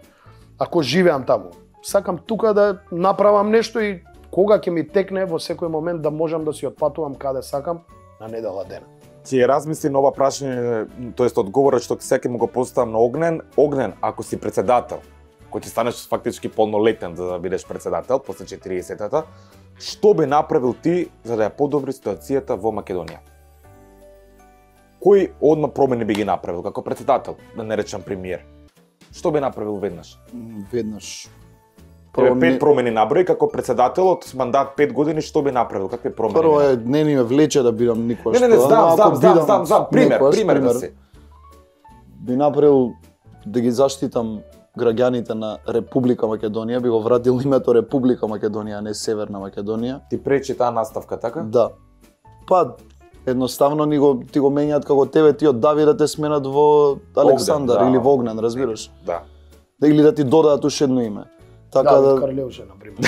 D: ако живеам таму. Сакам тука да направам нешто и кога ќе ми текне во секој момент да можам да си отпатувам каде сакам на недела ден.
B: Ти размисли на ова прашање, тоест одговорот што секој му го поставам на Огнен. Огнен, ако си председател, кој ти станеш фактички полнолетен за да бидеш председател после 40-тата, што би направил ти за да ја подобри ситуацијата во Македонија? Кои одма промени би ги направил како председател, да не речам премиер? Што би направил веднаш?
C: Веднаш.
B: Прво 5 промени наброи како председател од мандат 5 години, што би направил? Какви промени?
C: Прво е не ни ме влече да бидам никош.
B: Не, знам, пример да си.
C: Би направил да ги заштитам граѓаните на Република Македонија, би го вратил името Република Македонија, а не Северна Македонија.
B: Ти пречи таа наставка, така?
C: Да. Па едноставно ти го менјаат како тебе, ти од Давид да те сменат во Александар
B: Огнен, да.
C: или во Огнен, разбираш?
B: Да.
C: Или да ти додаат уште едно име. Така
D: да, Карлеуше, например.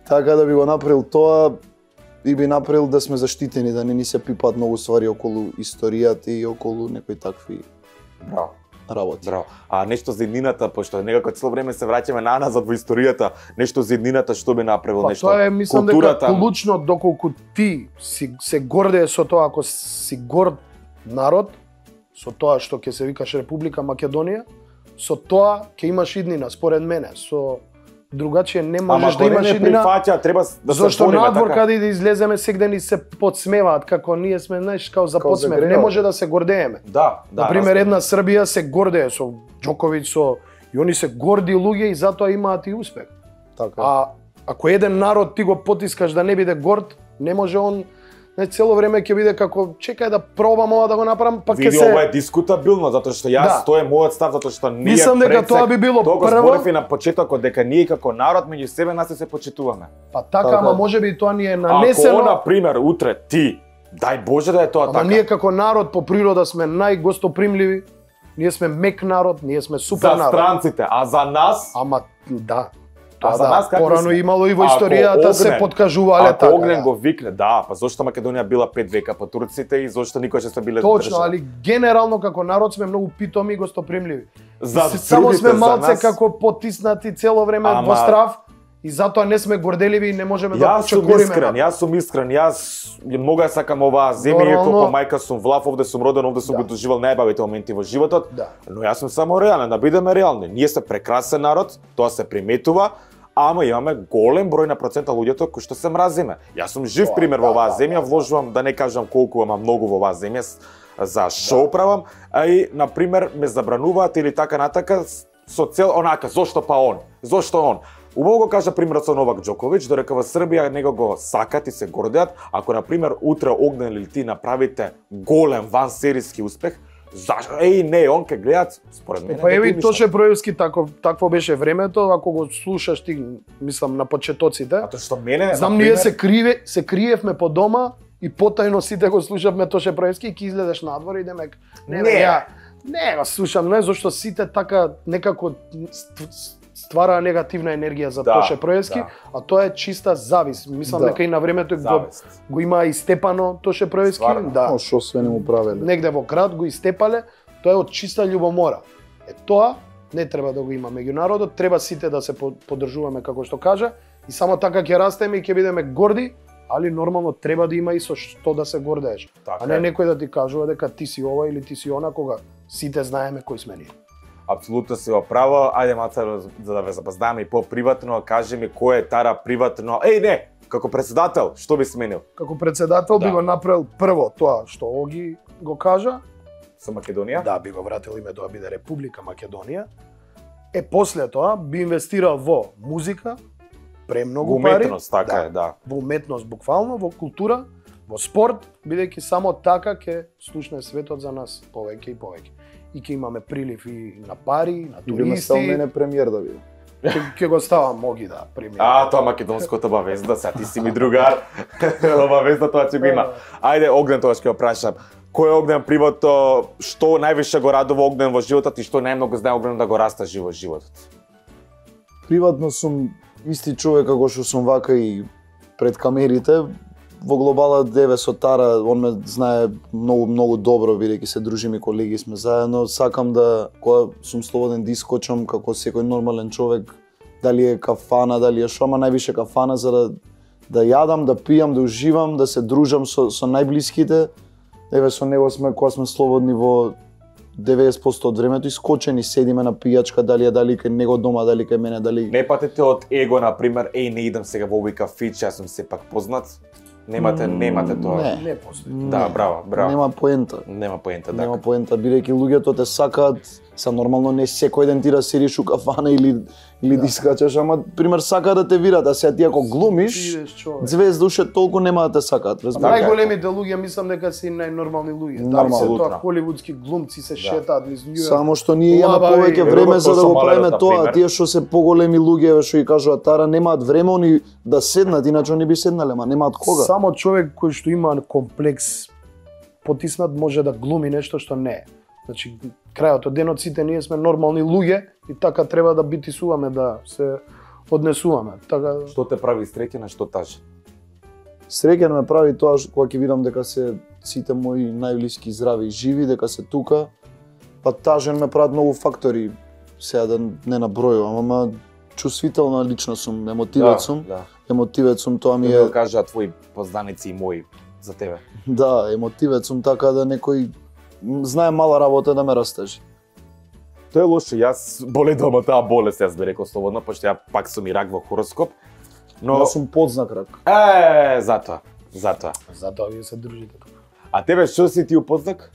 C: Така да би го направил тоа и би направил да сме заштитени, да не ни се пипаат многу ствари околу историјата и околу некои такви
B: Браво.
C: работи.
B: Браво. А нешто за еднината, пошто некако цело време се враќаме назад во историјата, нешто за еднината што би направил, нешто
D: тоа е, мислам дека клучно доколку ти се гордее со тоа, ако си горд народ, со тоа што ќе се викаш Република Македонија, со тоа ќе имаш иднина, според мене, со другачие не можеш да имаш иднина.
B: Ама прифаќа, треба да се
D: зашто
B: бориме,
D: надвор
B: така?
D: каде да излеземе секде ни се подсмеваат како ние сме, знаеш, као за подсмев. Не може да се гордееме.
B: Да.
D: Например, една Србија се гордее со Џоковиќ, со и они се горди луѓе и затоа имаат и успех.
C: Така.
D: А ако еден народ ти го потискаш да не биде горд, не може он цело време ќе биде како чекај да пробам ова да го направам, па ќе се.
B: Види, ова е дискутабилно затоа што јас тоа е мојот став, затоа што ние
D: мислам дека тоа би било
B: тоа го
D: прво.
B: зборевме на почетокот дека ние како народ меѓу себе нас се почитуваме.
D: Па така, ама можеби тоа ни е нанесено.
B: Ако на пример утре ти, дај Боже да е тоа така.
D: Ама ние како народ по природа сме најгостопримливи. Ние сме мек народ, ние сме супер народ.
B: За странците, а за нас?
D: Ама да.
B: А за нас како
D: порано имало и во историјата се подкажувале така.
B: Ако Огнен го викне, да, па зошто Македонија била 5 века по турците и зошто никогаш не се биле
D: точно, али генерално како народ сме многу питоми и гостопримливи. Само
B: другите,
D: сме малце
B: нас...
D: како потиснати цело време во страв и затоа не сме горделиви и не можеме да чекориме.
B: Јас сум искрен, јас многу ја сакам оваа земја, иако по мајка сум влав, овде сум роден, овде сум го доживел најбавите моменти во животот, но јас сум само реален, да бидеме реални. Ние сме прекрасен народ, тоа се приметува, ама имаме голем број на процента луѓето кои што се мразиме. Јас сум жив пример во оваа земја, вложувам, да не кажам колку, ама многу во оваа земја за шоу правам, а и на пример ме забрануваат или така натака со цел онака, зошто па он? Зошто он? Убаво го кажа примерот со Новак Џоковиќ, додека во Србија него го сакат и се гордеат, ако на пример утре Огнен или ти направите голем вансериски успех, Зашо? Еј, не, он ке гледат, според мене.
D: Па еви Тоше Проевски такво беше времето, ако го слушаш ти, мислам на почетоците.
B: А тоа што мене,
D: знам ние се криевме по дома и потајно сите го слушавме Тоше Проевски и ки излезеш надвор и демек не го слушам, не зашто сите така некако ствараа негативна енергија за Тоше Проевски, а тоа е чиста завис. Мислам дека и на времето го има истепано Тоше Проевски,
C: да. Што све не му правеле.
D: Негде во град го истепале, тоа е од чиста љубомора. Тоа не треба да го има меѓу народот, треба сите да се поддржуваме како што кажа и само така ќе растеме и ќе бидеме горди, али нормално треба да има и со што да се гордееш. А не некој да ти кажува дека ти си ова или ти си она, кога сите знаеме кои сме ние.
B: Апсолутно си во право. Ајде Маца, за да ве запознаме и по-приватно, кажи ми кој е Тара приватно. Еј, не, како председател, што би сменил?
D: Како председател би го направил прво тоа што Оги го кажа.
B: Со Македонија?
D: Да, би го вратил име да биде Република Македонија. После тоа би инвестирал во музика, премногу пари.
B: Уметност, така е, да.
D: Во уметност буквално, во култура, во спорт, бидејќи само така ќе слушне светот за нас повеќе и повеќе. И ќе имаме прилив и на пари, на туристи.
C: И ме стал мене премиер да биде.
D: Ќе го ставам Моги да премиер.
B: Тоа македонското обавезда, сега ти си ми другар. Обавезда тоа ќе го има. Ајде Огнен, тоа ќе го прашам. Кој е Огнен привото, што највише го радува Огнен во животот и што најмногу знае Огнен да го растажи во животот?
C: Приватно сум исти човек како што сум вака и пред камерите. Во глобала деве со Тара, он ме знае многу добро, бидејќи се дружиме, колеги сме заедно. Сакам да, кога сум слободен да искочам како секој нормален човек, дали е кафана, дали е шома, највише кафана за да јадам, да пијам, да уживам, да се дружам со најблиските. Еве со него сме, кога сме слободни во 90% од времето, искочени седиме на пијачка, дали кај него дома, дали кај мене, дали...
B: Не патите од его, например, еј, не идам сега во овој кафич, јас сум сепак познат. Немате тоа.
D: Не постои.
B: Да, браво.
C: Нема поента.
B: Нема поента,
C: Нема поента, бидејќи луѓето те сакаат, нормално не секој ден ти да седиш у кафана или да искачаш, ама пример сакаат да те вират, а сега ти ако глумиш, звезда уште толку нема да те сакаат, разбираш?
D: Најголемите луѓе мислам дека се најнормални луѓе. Да, се тоа холивудски глумци се шетаат низ Њујорк.
C: Само што ние имаме повеќе време за да го правиме тоа, тие што се поголеми луѓе, што и кажуваат Тара, немаат време они да седнат, иначе они би седнале, ама немаат кога.
D: Само човек кој што има комплекс потиснат може да глуми нешто што не е. Значи, крајот од денот сите ние сме нормални луѓе и така треба да битисуваме, да се однесуваме. Така...
B: Што те прави среќен, а што тажен?
C: Среќен ме прави тоа кога ќе видам дека се сите мои најблиски здрави и живи, дека се тука. Па тажен ме прават многу фактори, сега да не набројувам, ама чувствителна личност сум, емотивец сум. Емотивец сум, тоа ми е...
B: Да кажа твои познаници и мои за тебе.
C: Да, емотивец сум, така да некој знае мала работа да ме растажи.
B: Тоа е лошо, јас боледам од таа болест, јас би рекол слободно, пошто ја пак сум и рак во хороскоп. Но
C: јас сум подзнак рак.
B: Затоа.
D: Затоа вие се дружите.
B: А тебе што си ти упознак?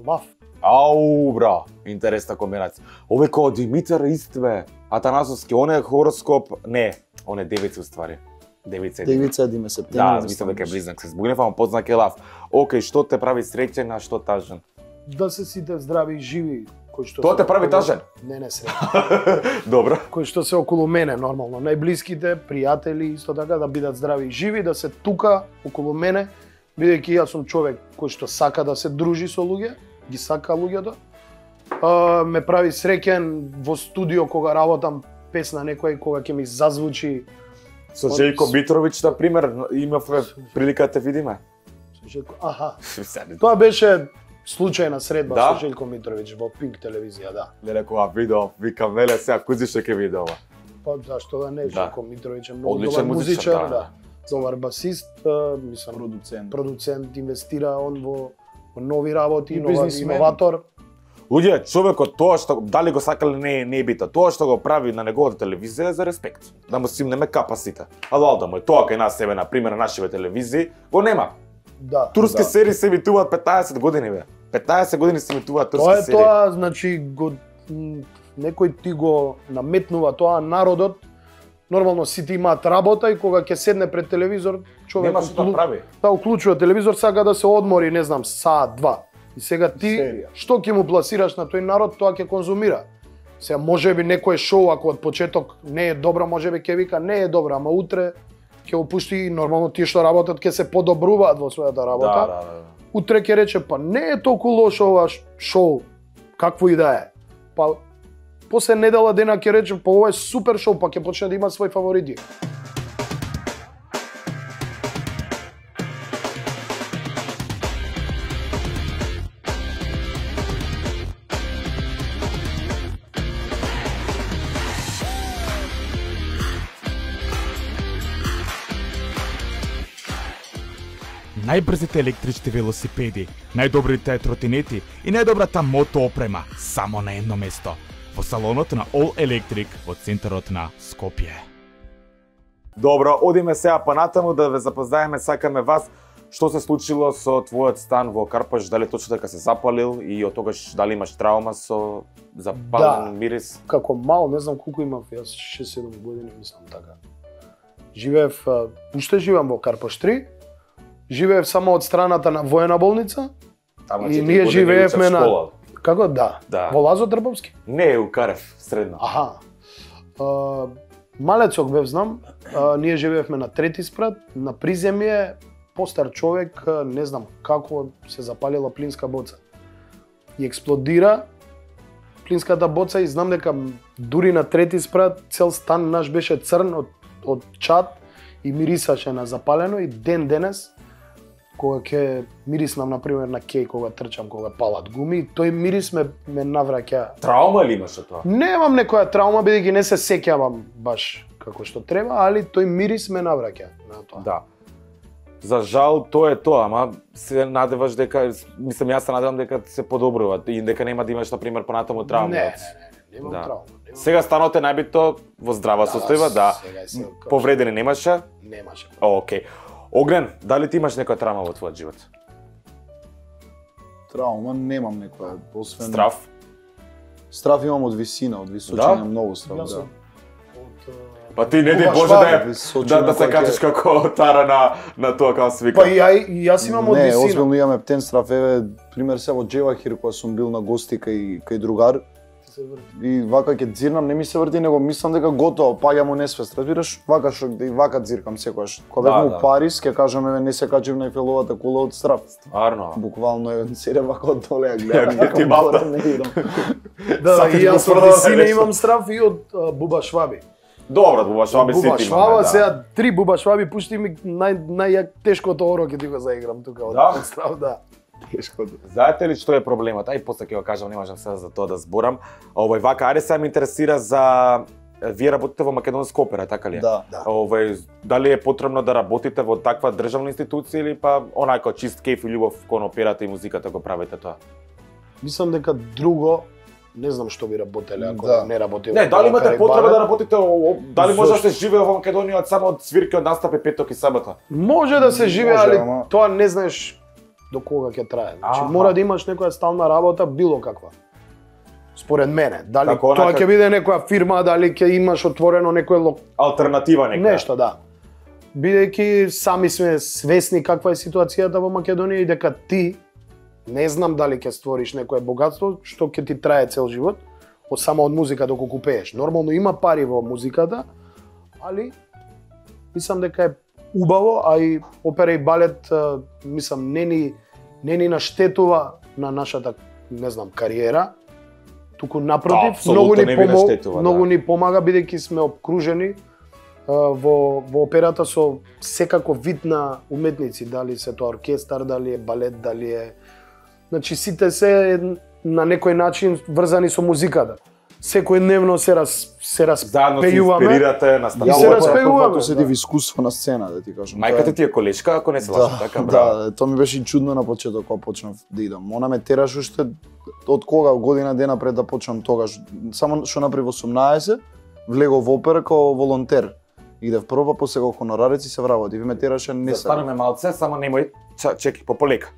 D: Лав.
B: Ау, бра, интересна комбинација. Овој као Димитар Истве, Атанасовски, он е хороскоп, не, он е девица уствари. Девица
C: Диме септември.
B: Да, мислам дека е близнак се збугнев, ама познак е лав. Океј, што те прави среќен, а што тажен?
D: Да се сите здрави и живи.
B: Тоа те прави тажен?
D: Не среќен.
B: Добро.
D: Кои што се околу мене нормално, најблиските, пријатели, исто така да бидат здрави и живи, да се тука околу мене, бидејќи јас сум човек кој што сака да се дружи со луѓе, ги сака луѓето. Ме прави среќен во студио кога работам песна некоја кога ќе ми зазвучи.
B: Со Желјко Митровиќ, на пример, имавме прилика да те видиме.
D: Аха. Тоа беше случајна средба со Желјко Митровиќ во Пинк телевизија, да.
B: Леле, кога видео, викам, леле, сега кузи што ќе види ова.
D: Па зашто да не, Желјко Митровиќ е многу добар музичар, да. Добар басист, мислам, продуцент, инвестира он во нови работи, иноватор.
B: Луѓе, човекот тоа што дали го сакале не е битно. Тоа што го прави на неговата телевизија е за респект. Да му симнеме капа сите. Ало да му тоа кај нас себе на пример на нашите телевизии го нема.
D: Да.
B: Турски серии се емитуваат 15 години бе. 15 години се емитуваат турски серии.
D: Тоа значи некој ти го наметнува тоа народот. Нормално сите имаат работа и кога ќе седне пред телевизор, човек
B: нема што да прави.
D: Да, уклучува телевизор, сака да се одмори, не знам, саат, два. И сега ти што ќе му пласираш на тој народ, тоа ќе конзумира. Сега можеби некој шоу ако од почеток не е добро, можеби ќе вика не е добро, ама утре ќе опушти и нормално тие што работат ќе се подобруваат во својата работа. Утре ќе рече па не е толку лошо ова шоу, какво и да е. Па после недела дена ќе рече па ова е супер шоу, па ќе почне да има свој фаворити.
E: Најбрзите електрични велосипеди, најдобрите тротинети и најдобрата мото опрема само на едно место. Во салонот на All Electric во центарот на Скопје.
B: Добро, одиме сега понатаму да ве запознаеме, сакаме вас што се случило со твојот стан во Карпаш, дали точно дека се запалил и од тогаш дали имаш траума со запален мирис?
D: Како мал, не знам колку имав, јас 6-7 години мислам така. Живеев, уште живеам во Карпаш 3. Живеев само од страната на воена болница. И ние живеевме на како да. Во Лазо Трбовски?
B: Не, у Карев, средно.
D: Аха. Малецок бев знам, ние живеевме на трети спрат, на приземје, постар човек, не знам како се запалила плинска боца. И експлодира плинската боца и знам дека дури на трети спрат цел стан наш беше црн од чад и мирисаше на запалено и ден денес кога ќе мириснам на пример на кеј кога трчам, кога палат гуми, тој мирис ме навраќа.
B: Траума ли имаше тоа?
D: Немам некоја траума бидејќи не се сеќавам баш како што треба, али тој мирис ме навраќа на тоа.
B: Да. За жал тоа е тоа, ама се надеваш дека, мислам јас се надевам дека се подобрува и дека нема да имаш на пример понатаму траума.
D: Немам траума.
B: Сега станот е најбитно во здрава состојба, да. Повредени немаше?
D: Немаше.
B: Океј. Огнен, дали ти имаш некоја траума во твојот живот?
C: Траума немам некоја, освен
B: Страв?
C: Страв имам од висина, од височина, многу страв, да.
B: Па ти не ди Боже да се качиш како тара на тоа како се вика.
D: Па и јас имам од висина.
C: Не, озбилно имаме птен страв, еве пример се во Джевахир кога сум бил на гости кај другар. И вака ќе дзирнам, не ми се врти, него мислам дека готово, паѓам у несвест. Разбираш, вака што и вака дзиркам секогаш. Кога бевме у Париз, ќе кажам еве не се качив на Ефеловата кула од страв.
B: Стварно.
C: Буквално еве седам вака од доле ја гледам.
B: Ти малта
C: не идам.
D: Да, и јас од висина имам страв и од Буба Шваби.
B: Добро, Буба Шваби сите имаме.
D: Буба Шваба, сега 3 Буба Шваби пушти ми најтешкото оро ќе ти го заиграм тука од страв, да.
B: Знаете ли што е проблемот? Ај после ќе го кажам, не можам сега за тоа да зборам. Вака, ајде сега ме интересира за вие работите во Македонска опера, така ли е?
C: Да.
B: Дали е потребно да работите во таква државна институција или па онака чист кејф и љубов кон операта и музиката го правите тоа?
D: Мислам дека друго не знам што би работеле ако не работите.
B: Не, дали имате потреба да работите, дали може да се живее во Македонија само од свирки, од настапи петок и сабота?
D: Може да се живее, али тоа не знаеш до кога ќе трае. Значи мора да имаш некоја стална работа било каква. Според мене, дали тоа ќе биде некоја фирма, дали ќе имаш отворено некој
B: алтернатива нека.
D: Нешто, да. Бидејќи сами сме свесни каква е ситуацијата во Македонија и дека ти не знам дали ќе створиш некое богатство што ќе ти трае цел живот, само од музика доколку пееш. Нормално има пари во музиката, али мислам дека е убаво, а и опера и балет мислам не ни наштетува на нашата, не знам, кариера. Туку напротив, многу ни помага бидејќи сме обкружени во операта со секако вид на уметници, дали се тоа оркестар, дали е балет, дали е... Значи сите се на некој начин врзани со музиката. Секојдневно се распејуваме.
B: Заедно се инспирирате на
D: станција. Се распејуваме.
C: Се див искуство на сцена, да ти кажам.
B: Мајката ти е колешка, ако не се лажам, така, браво.
C: Да, тоа ми беше и чудно на почеток кога почнав да идам. Она ме тераше уште од кога година дена пред да почнам тогаш. Само што напри во 18 влегов во опера како волонтер. Идев прво, после како хонорарец и се вработи. Ви ме тераше не се.
B: Застанеме малце, само немој, чекај, пополека.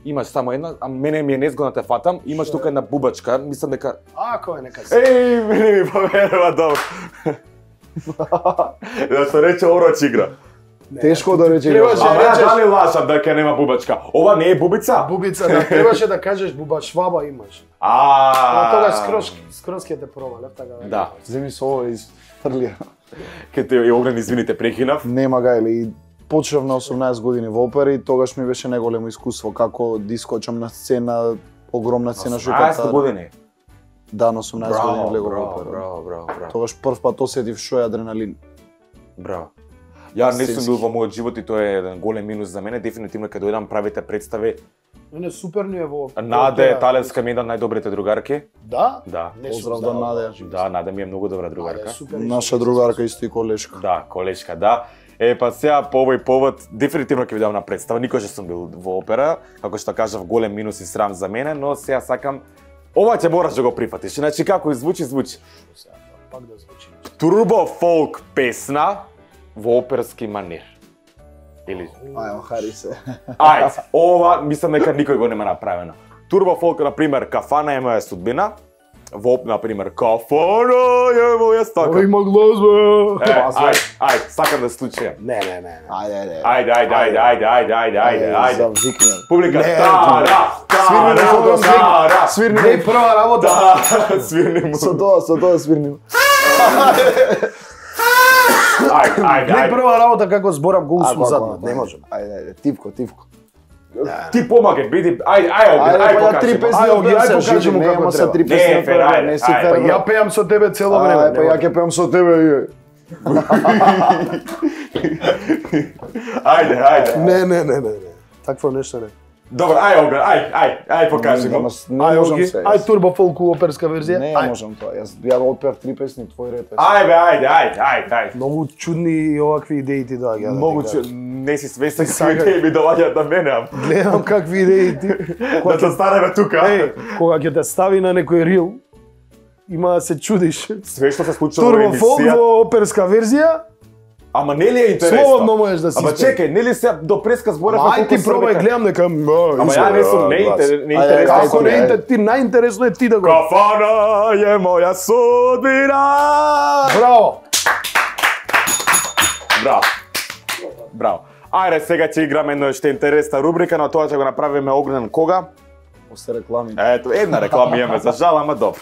B: Имаш само една, а мене ми е незгодно да те фатам, имаш тука една бубачка, мислам дека...
D: Кој нека се?
B: Мене ми поверува добро. Да се рече ороч игра.
C: Тешко да рече.
D: Требаше
B: Ама
D: речеш
B: дали лажам дека нема бубачка? Ова не е бубица?
D: бубица, да требаше да кажеш буба шваба имаш. Тогаш скроз ќе те провалев, така да.
B: Да.
C: Земи со ова изфрлија.
B: Ке те Огнен, извините, прекинав.
C: Нема га или почнав на 18 години во опера и тогаш ми беше најголемо искуство како да искочам на сцена, огромна сцена што
B: 18 години.
C: Да, на 18 години влегов во опера.
B: Браво.
C: Тогаш прв пат осетив што е адреналин.
B: Браво. Ја не сум
C: Сенски.
B: бил во мојот живот и тоа е еден голем минус за мене. Дефинитивно кога дојдам правите представи,
D: Не, супер ни е во...
B: Наде Талевска ми е една од најдобрите другарки.
D: Да?
B: Да.
D: Не сум
C: Поздрав до
D: знал,
C: Наде.
B: Да, Наде ми е многу добра
D: Наде,
B: другарка.
D: супер.
C: Наша другарка исто и колешка.
B: Да, колешка, да. Па сега по овој повод дефинитивно ќе ви дам на представа. Никош не сум бил во опера, како што кажав, голем минус и срам за мене, но сега сакам ова ќе мораш да го прифатиш. Значи како звучи.
D: Пак да звучи.
B: Турбо фолк песна во оперски манир. Или
C: Ајо, хари се.
B: ајде, ова мислам дека никој го нема направено. Турбо фолк, на пример, Кафана е моја судбина. Во, на пример, Кафана е моја стака.
D: Ова има глазба.
B: Ајде, сакам да случијам.
D: Не.
C: Ајде.
B: Ајде.
C: Завикнем.
B: Публика,
D: Не,
C: Свирни
D: Не, прва работа.
B: Свирни му.
C: Со тоа свирни.
D: Не, прва работа како зборам го усум задна. Не можам.
C: Ајде, тивко.
B: Ти помагај, биди, ајде,
C: Па три песни,
D: ајде, покажи му како
C: са три
B: Не,
C: песни,
B: Фер, ајде,
C: не си
B: ајде.
C: Фер.
D: Ја пеам со тебе цело време.
C: Па ја ќе пеам со тебе.
B: Ајде.
D: Не. Такво нешто не.
B: Добро, ајде, покажи го.
C: Не можам се.
D: Ај турбо фолку оперска верзија.
C: Не, ја можам тоа. Ја отпеав три песни, твој ред.
B: Ајде.
D: Многу чудни и овакви идеи ти доаѓаат.
B: Многу не си свесен какви ми доаѓаат на мене.
D: Гледам какви идеи ти.
B: Да те станеме тука.
D: Кога ќе те стави на некој рил, има да се чудиш.
B: Све што се случува во
D: Турбо фолк
B: емисија.
D: во оперска верзија,
B: Ама нели е интересно?
D: слободно можеш да си
B: Ама
D: спееш.
B: чекај, нели се до преска зборев
D: Ама ај ти пробај, гледам дека...
B: Ама ја не сум неинтересно.
D: Како не ти најинтересно е ти да го...
B: Кафана е моја судбина. Браво. Ајде, сега ќе играме едно што е интересна рубрика, но тоа ќе го направиме Огнен кога?
C: После реклами.
B: Ето, една реклама имаме за жал, ама добро.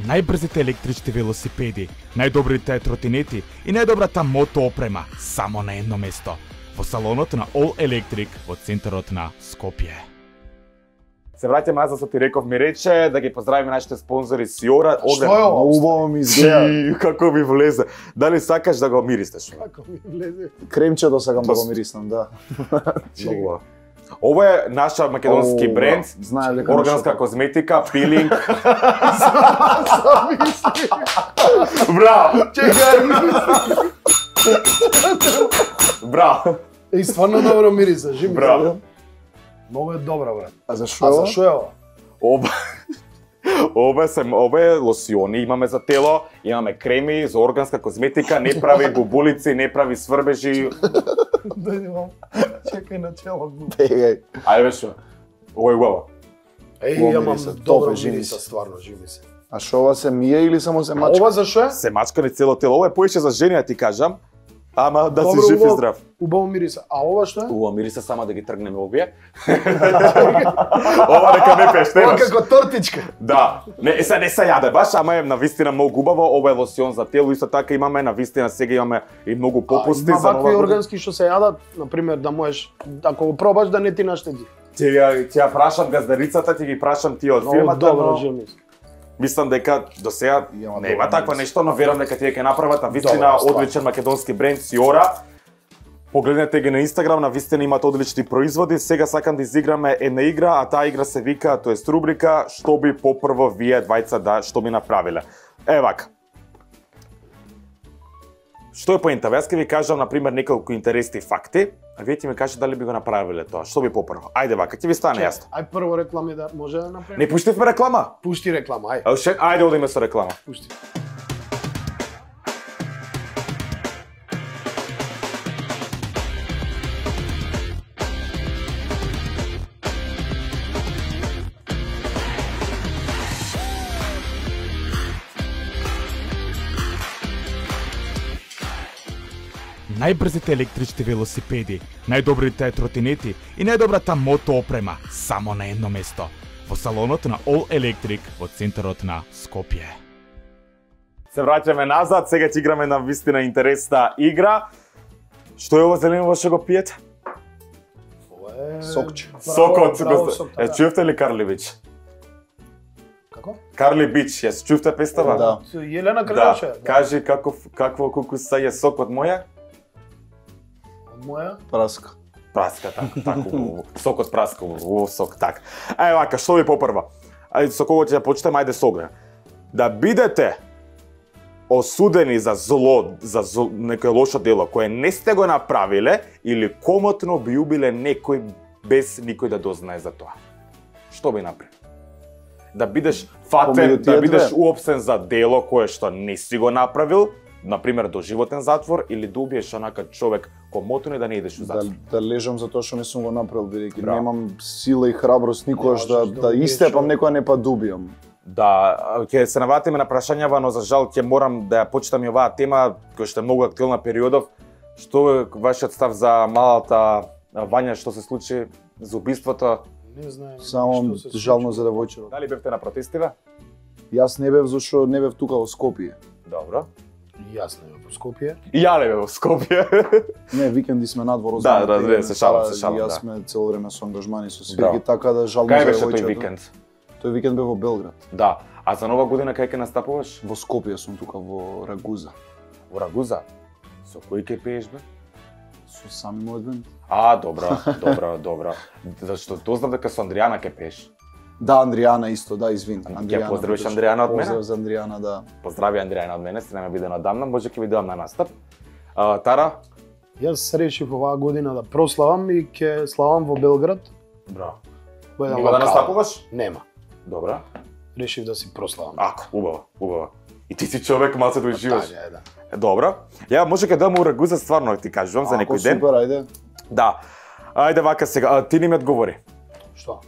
E: Најбрзите електрични велосипеди, најдобрите тротинети и најдобрата мото опрема само на едно место. Во салонот на All Electric во центарот на Скопје.
B: Се враќаме назад, со ти реков, ми рече да ги поздравиме нашите спонзори Сиора.
D: Што е ова?
C: Убаво ми изгледа.
B: Како ми влезе. Дали сакаш да го миристеш?
D: Како ми влезе?
C: Кремчето сакам да го мириснам, да.
B: Многу. Ова е наша македонски бренд,
C: знаеш дека
B: органска
C: нешто-
B: козметика, пилинг. Браво! Браво!
D: И стварно добро мириса, жим.
B: Браво.
D: Многу е добра, брат.
C: А за што?
D: А за што е ова?
B: Ова е лосиони, имаме за тело, имаме креми за органска козметика, не прави бубулици, не прави сврбежи.
D: Дојди вам. Чекај на чело.
C: Бегај.
B: Ајде беше. Ова е убаво.
D: Еј,
C: Ова
D: имам
C: мириса,
D: добро
C: топе, жими
D: мириса,
C: се.
D: стварно, жими се.
C: А што ова се мие или само се
D: А
C: мачка?
D: ова за што е?
B: Се мачка ни цело тело, ова е поише за жени, да ти кажам. Ама да си
D: Добро,
B: жив и
D: убаво-
B: здрав.
D: Убаво мириса. А ова што е?
B: Ова мириса само да ги тргнеме овие. Ова нека не пеш,
D: Ова
B: немаш.
D: како тортичка.
B: Да, не се јаде баш, ама е навистина многу убаво. Ова е лосион за тело, исто така имаме навистина сега имаме и многу попусти
D: Има
B: за
D: вакви
B: нова година.
D: органски што се јадат, на пример да можеш, ако го пробаш да не ти наштеди.
B: Ќе ја прашам газдарицата, ќе ги прашам тие од
D: Многу
B: фирмата,
D: добро,
B: но
D: жими се.
B: мислам дека до сега
C: Има
B: нема
C: добро
B: такво
C: мирис.
B: нешто, но верам дека тие ќе направат навистина
D: Добра ствар.
B: одличен македонски бренд Сиора. Погледнете ги на Инстаграм, навистина имат одлични производи. Сега сакам да изиграме една игра, а таа игра се вика, тоест рубрика, што би попрво вие двајца што би направиле. Вака. Што е поентава? Јас ќе ви кажам, на пример, неколку интересни факти, а вие ќе ми кажете дали би го направиле тоа. Што би попрво? Ајде вака, ќе ви стане јасно.
D: Ај прво реклами да може да направиме.
B: Не пуштивме реклама?
D: Пушти реклама, ај.
B: Ајде одиме со реклама.
D: Пушти.
E: најбрзите електрични велосипеди, најдобрите тротинети и најдобрата мото опрема само на едно место. Во салонот на All Electric во центарот на Скопје.
B: Се враќаме назад, сега ќе играме на вистина интересна игра. Што е ово зелено што го пиете?
C: Сокче.
B: Сокот.
D: Чувте
B: ли Карли Бич?
D: Како?
B: Карли Бич, јас чувте пестава?
C: Да.
D: Јелена Кралевче.
B: Да. Кажи какво кукуса е сок од моја?
D: Од моја?
C: Праска.
B: Праска, така. Сок од праска, сок, така. Ај вака, што ви попрва? Ајде со кого ќе почнеме, ајде со Огнен. Да бидете осудени за зло, некое лошо дело кое не сте го направиле или комотно би убиле некој без никој да дознае за тоа. Што би направил? Да бидеш фатен, да бидеш уопсен за дело кое што не си го направил, например доживотен затвор, или да убиеш онака човек комотно и да не идеш у затвор.
C: Да лежам за тоа што не сум го направил, бидејќи немам сила и храброст никогаш да истепам некоја не па дубијам.
B: Да, ќе се навратиме на прашањава, но за жал ќе морам да ја почитам и оваа тема која што е многу актуелна периодов. Што е вашиот став за малата Вања што се случи за убиството?
D: Не знаем.
C: Само жално за девојчето.
B: Дали бевте на протестиве?
C: Јас не бев зашто не бев тука во Скопје.
B: Добро.
D: Јас не бев во Скопје.
B: И ја не бев во Скопје.
C: Не, викенди сме надвор.
B: Да, разбира се, шалам.
C: Јас сме цело време со ангажмани со свирки, така да жално за
B: девојчето. Кај беше
C: девојчето.
B: тој викенд?
C: Тој викенд бев во Белград.
B: Да. А за нова година кај ќе настапуваш?
C: Во Скопје сум тука во Рагуза.
B: Во Рагуза? Со кој ќе пееш бе?
C: Со сами мојот бенд.
B: Добро. Зашто дознав дека со Андријана ќе пееш.
C: Да, Андријана исто, да, извини.
B: Ќе поздравиш Андријана од мене?
C: Поздрав за Андријана, да.
B: Поздрави Андријана од мене, се нема биде надамна, може ќе видам на настап. Тара?
D: Јас решив оваа година да прославам и ќе славам во Белград.
B: Браво.
D: Нема
B: да настапуваш?
D: Нема.
B: Добра.
D: Решив да си прославам.
B: Ако, убаво. И ти си човек малце да уживаш.
D: Да.
B: Добро. Ја може ќе дам у Рагуза стварно ти кажувам за некој ден.
C: Супер, ајде.
B: Да. Ајде вака сега, ти ни ми одговори.
D: Што?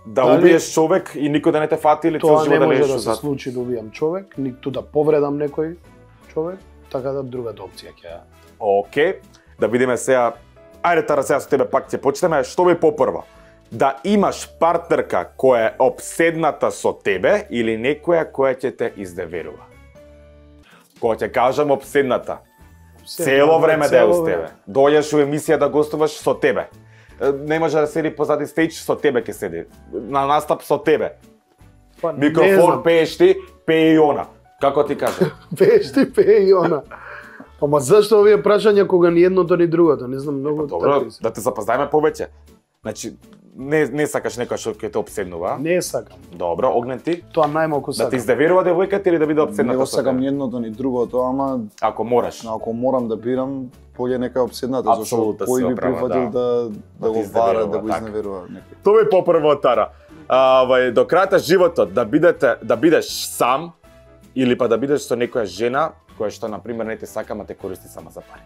B: Да убиеш човек и никој да не те фати или цел живот да лежиш
D: тоа не може да
B: зад.
D: се случи да убијам човек, ниту да повредам некој човек, така да другата опција ќе.
B: Океј, да видиме сега. Ајде Тара, сега со тебе пак ќе почнеме. Што би попрво? Да имаш партнерка која е обседната со тебе или некоја која ќе те изневерува? Кога ќе кажам обседната, цело време да е uz тебе. Дојдеш у емисија да гостуваш со тебе. Не може да седи позади стејдж, со тебе ќе седи. На настап со тебе. Микрофон пееш ти, пее и она. Како ти кажа?
D: Пееш ти, пее и она. Ама зашто овие прашања кога ни едното ни другото? Не знам, многу
B: Добро, да те запознаеме повеќе. Значи, не сакаш некој што ќе те обседнува?
D: Не сакам.
B: Добро, Огнен ти?
D: Тоа најмалку
B: Да
D: сакам.
B: те изневерува девојката или да биде обседната
C: Не го
B: со
C: сакам
B: тебе?
C: ни едното ни другото, ама
B: Ако мораш.
C: ако морам да бирам, поќе нека обседната, зашто
B: Апсолутно си
C: кој би
B: оправа,
C: прифатил
B: да
C: да го
B: ти
C: вара,
B: изневерува,
C: да го
B: така.
C: изневерува некој.
B: Тоа е попрво Тара. До крајот на животот да бидеш сам или па да бидеш со некоја жена која што на пример не те сака, ама те користи само за пари.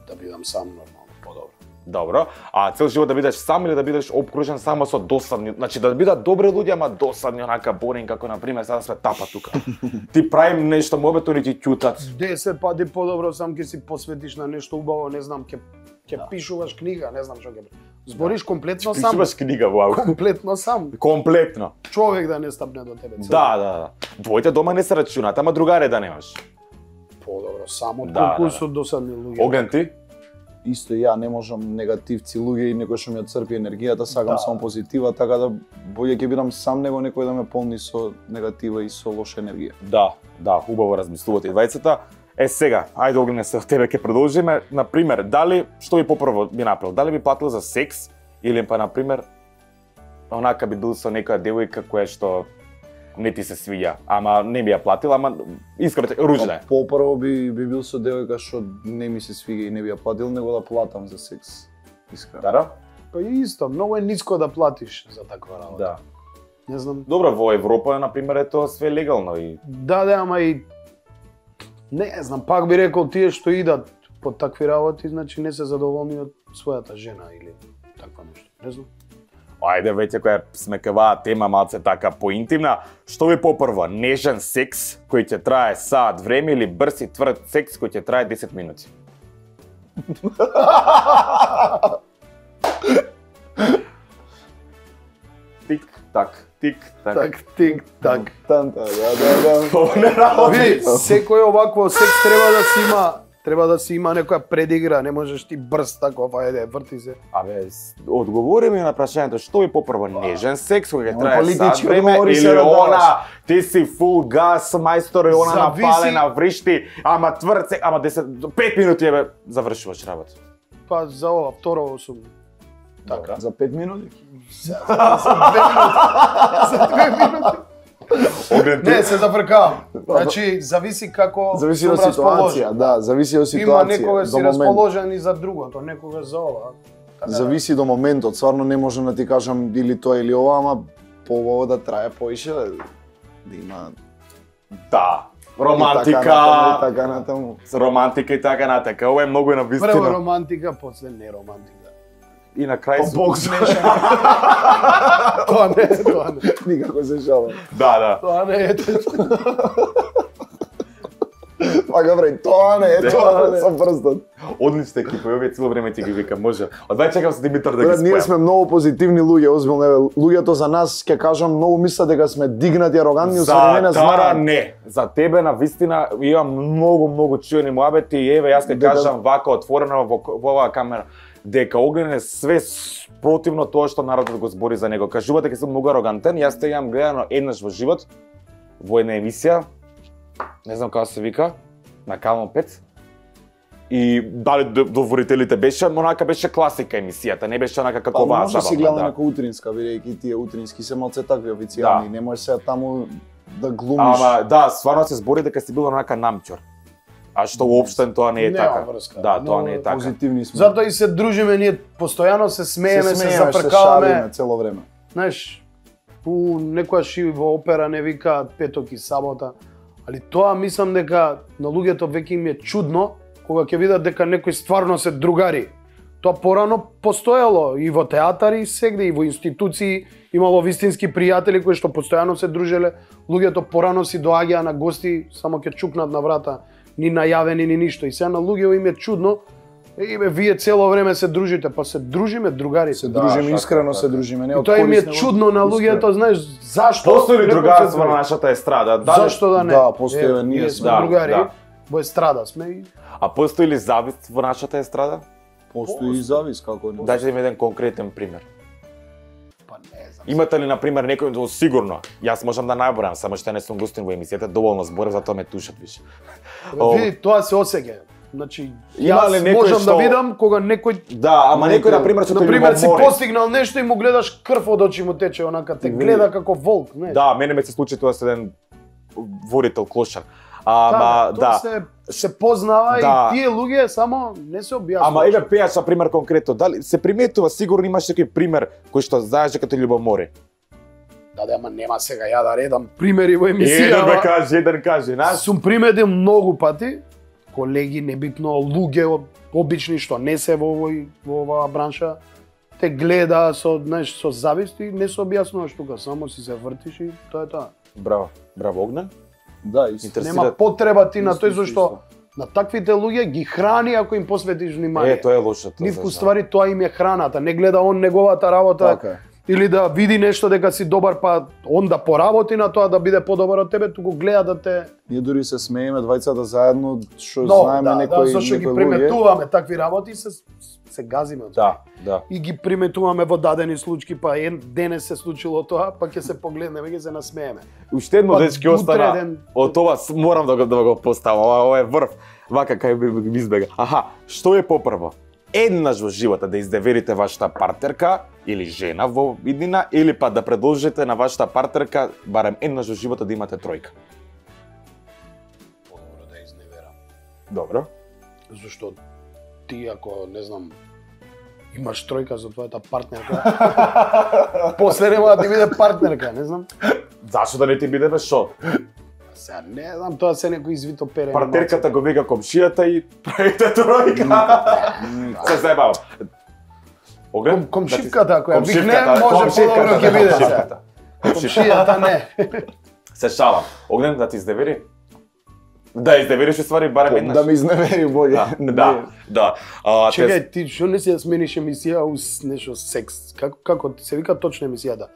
D: Да бидам сам нормално, подобро.
B: Добро. А цел живот да бидеш сам или да бидеш обкружен само со досадни, значи да бидат добри луѓе, ама досадни, онака боринг, како на пример сега сме тапа тука. Ти правим нешто мобето ни ти ќутат.
D: 10 пати подобро сам ќе си посветиш на нешто убаво, не знам, ќе пишуваш книга, не знам што ќе. Збориш комплетно сам.
B: Пишуваш книга, вау.
D: Комплетно сам.
B: Комплетно.
D: Човек да не стапне до тебе.
B: Да. Двојте дома не се рачунат, ама другаре да немаш.
D: Подобро, само
B: Да,
D: толку со досадни луѓе.
B: Огнен ти?
C: Исто и ја не можам негативци луѓе и некој што ми ја црпи енергијата, сакам само позитива, така да боље ќе бидам сам него некој да ме полни со негатива и со лоша енергија.
B: Да, убаво размислувате и двајцата. Сега, ајде Огнене, се од тебе ќе продолжиме. Например, дали, што би попрво би направил? Дали би платил за секс или па, например, онака би бил со некоја девојка која што не ти се свиѓа, ама не би ја платил, ама искрено ружна е.
C: Попрво би бил со девојка што не ми се свига и не би ја платил, него да платам за секс. Искрено.
B: Дара?
D: Па исто, многу е ниско да платиш за таква работа.
B: Да.
D: Не знам.
B: Добро, во Европа, например, е тоа све легално и...
D: Да, ама и... Не знам, пак би рекол тие што идат по такви работи, значи не се задоволни од својата жена или таква нешто. Не знам.
B: Ајде веќе која сме кај оваа тема малце така поинтимна, што ви попрво, нежен секс кој ќе трае саат време или брз и тврд секс кој ќе трае 10 минути? Тик-так, тик-так.
D: Так, тик, так.
C: Танта, да.
D: Ви, секој овакво секс треба да си има некоја предигра, не можеш ти брз тако, ајде, врти се.
B: Абе, одговори ми на прашањето, што ви попрво, нежен секс кој ќе трае саат
C: политички
B: време
C: одговори
B: или
C: се да даваш.
B: она, ти си фул газ, мајстор и она
D: Зависи.
B: напалена, вришти, ама тврд секс, ама 5 минути еве завршуваш работа.
D: Па за ова второ сум. Така.
C: За 5 минути?
D: За 2 минути. Не, се зафркавам. Значи, зависи како
C: Зависи
D: сум
C: од ситуација,
D: расположен.
C: да, зависи од
D: Има
C: ситуација.
D: некогаш
C: до
D: си
C: момент.
D: расположен и за другото, некогаш за ова. Така да.
C: Зависи до моментот, стварно не можам да ти кажам или тоа или ова, ама по да трае поише, да има
B: Да.
C: и
B: Романтика.
C: така натаму.
B: Романтика и така натака. Ова е многу на
D: Прво
B: вистина.
D: романтика, после не романтика.
B: И на крај
C: Бог смешен.
D: Тоа не.
C: Никако се шалам.
B: Да.
D: Тоа не е.
C: Пака бре, тоа не е, тоа не е. Со прстот.
B: Одлична екипа, овие цело време ти ги викам, може. Одвај чекам со Димитар да ги
C: Брат, ние
B: спојам.
C: сме многу позитивни луѓе, озбилно еве, луѓето за нас ќе кажам многу мислат дека сме дигнати, арогантни,
B: За
C: усвоени не
B: Тара
C: знаат.
B: не. За тебе на вистина имам многу чуени муабети и еве јас ќе
C: Дека-
B: кажам вака отворено во оваа камера дека Огнен е све противно тоа што народот го збори за него. Кажува дека сум многу арогантен, јас те имам гледано еднаш во живот во една емисија, не знам како се вика, на Канал 5. И дали доворителите беше, онака беше класика емисијата, не беше онака како
C: Па
B: оваа
C: може да си
B: забавна.
C: гледа
B: Да.
C: нека утринска, бидејќи тие утрински се малце такви официјални,
B: Да.
C: не можеш сега таму да глумиш.
B: Ама да, стварно се збори дека си бил онака намчор. А што уопштен тоа не е
D: Нема
B: така.
D: врска.
B: Да, тоа
D: Но
B: не е така.
C: Позитивни сме.
D: Затоа и се дружиме, ние постојано се смееме, се
C: шалиме
D: зафркаваме.
C: цело време.
D: Знаеш, некојаш и во опера не викаат петок и сабота, али тоа мислам дека на луѓето веќе им е чудно кога ќе видат дека некои стварно се другари. Тоа порано постоело и во театари, сегде и во институции, имало вистински пријатели кои што постојано се дружеле, луѓето порано си доаѓаа на гости, само ќе чукнат на врата, ни најавени ни ништо. И сега на луѓето им е чудно, вие цело време се дружите, па се дружиме другари.
C: Се дружиме
B: така,
C: искрено,
B: така.
C: се дружиме, не
D: И
C: од
D: тоа им е
C: корисне,
D: чудно на луѓето, знаеш, зашто?
B: Постои ли
D: некој
B: другарство
D: се
B: на
D: други?
B: нашата естрада?
D: Зашто да не?
C: Да, постои,
D: Еве,
C: ние
D: ние
C: сме.
D: сме
B: Да,
D: другари,
B: да.
D: во естрада сме и
B: А постои ли завист во нашата естрада?
C: Постои и завис како не.
B: Дайте ми еден конкретен пример.
D: па не знам.
B: Имате ли на пример некој сигурно? Јас можам да најборам, само што не сум гостин во емисијата, доволно зборев, затоа ме тушат више.
D: Види, тоа се осеќа. Значи,
B: Има
D: јас
B: ли некој
D: можам
B: што-
D: да видам кога некој
B: Да, ама некој на пример што
D: на
B: те
D: пример
B: ви
D: си
B: во море.
D: постигнал нешто и му гледаш крв од очи му тече, онака те гледа како волк, не?
B: Да, мене ме се случи тоа со еден ворител клошар. Ама
D: тоа
B: да.
D: се познава
B: Да.
D: и тие луѓе само не се објаснува.
B: Ама еве пејач на пример конкретно, дали се приметува сигурно имаш некој пример кој што знаеш дека те љубомори.
D: Да, ама нема сега ја да редам примери во
B: Еден
D: емисија.
B: ме
D: ама-
B: каже, еден каже, знаеш?
D: Сум приметил многу пати, колеги, небитно луѓе обични што не се во оваа бранша, те гледа со, знаеш, со завист и не се објаснуваш тука, само си се вртиш и тоа е тоа.
B: Браво, браво Огнен.
C: Да, исто.
B: Интересира.
D: Нема потреба ти на
C: Исто,
D: тој
C: исто,
D: зашто на таквите луѓе ги храни ако им посветиш внимание.
B: Тоа е лошото.
D: Нив
B: за
D: ствари тоа им е храната, не гледа он неговата работа.
C: Така е.
D: Или да види нешто дека си добар, па он да поработи на тоа да биде подобар од тебе, туку гледа да те.
C: Ние дури се смееме двајцата заедно, што
D: Но,
C: знаеме
D: да,
C: некои
D: зашто ги
C: некои луѓе.
D: приметуваме такви работи и се газиме од тоа.
B: Да.
D: И ги приметуваме во дадени случаи, па денес се случило тоа, па ќе се погледнеме, ќе се насмееме.
B: Уште едно
D: Па,
B: дечки
D: утре
B: остана.
D: ден-
B: Од тоа морам да го поставам. Ова е врв. Вака кај би избега. Аха, што е попрво? Еднаш во живота да изневерите вашата партнерка или жена во иднина, или па да предложите на вашата партнерка барем еднаш во живота да имате тројка.
D: Подобро да изневерам.
B: Добро.
D: Зашто ти ако, не знам, имаш тројка за твојата партнерка, после нема да ти биде партнерка, не знам.
B: Зашо да не ти биде бе шо?
D: Сега не знам, тоа се некој извито пере.
B: Партнерката го вика комшијата и правите тројка. Се заебавам. Оглед,
D: Комшивката која викне, може подобро ќе биде се. Комшијата не.
B: Се шалам. Огнен да ти изневери? Да, изневериш ствари барем еднаш.
C: Да ме изневери боље.
B: Да.
D: Чекај, ти што не си ја смениш емисија уз нешто секс? Како се вика точно емисијата?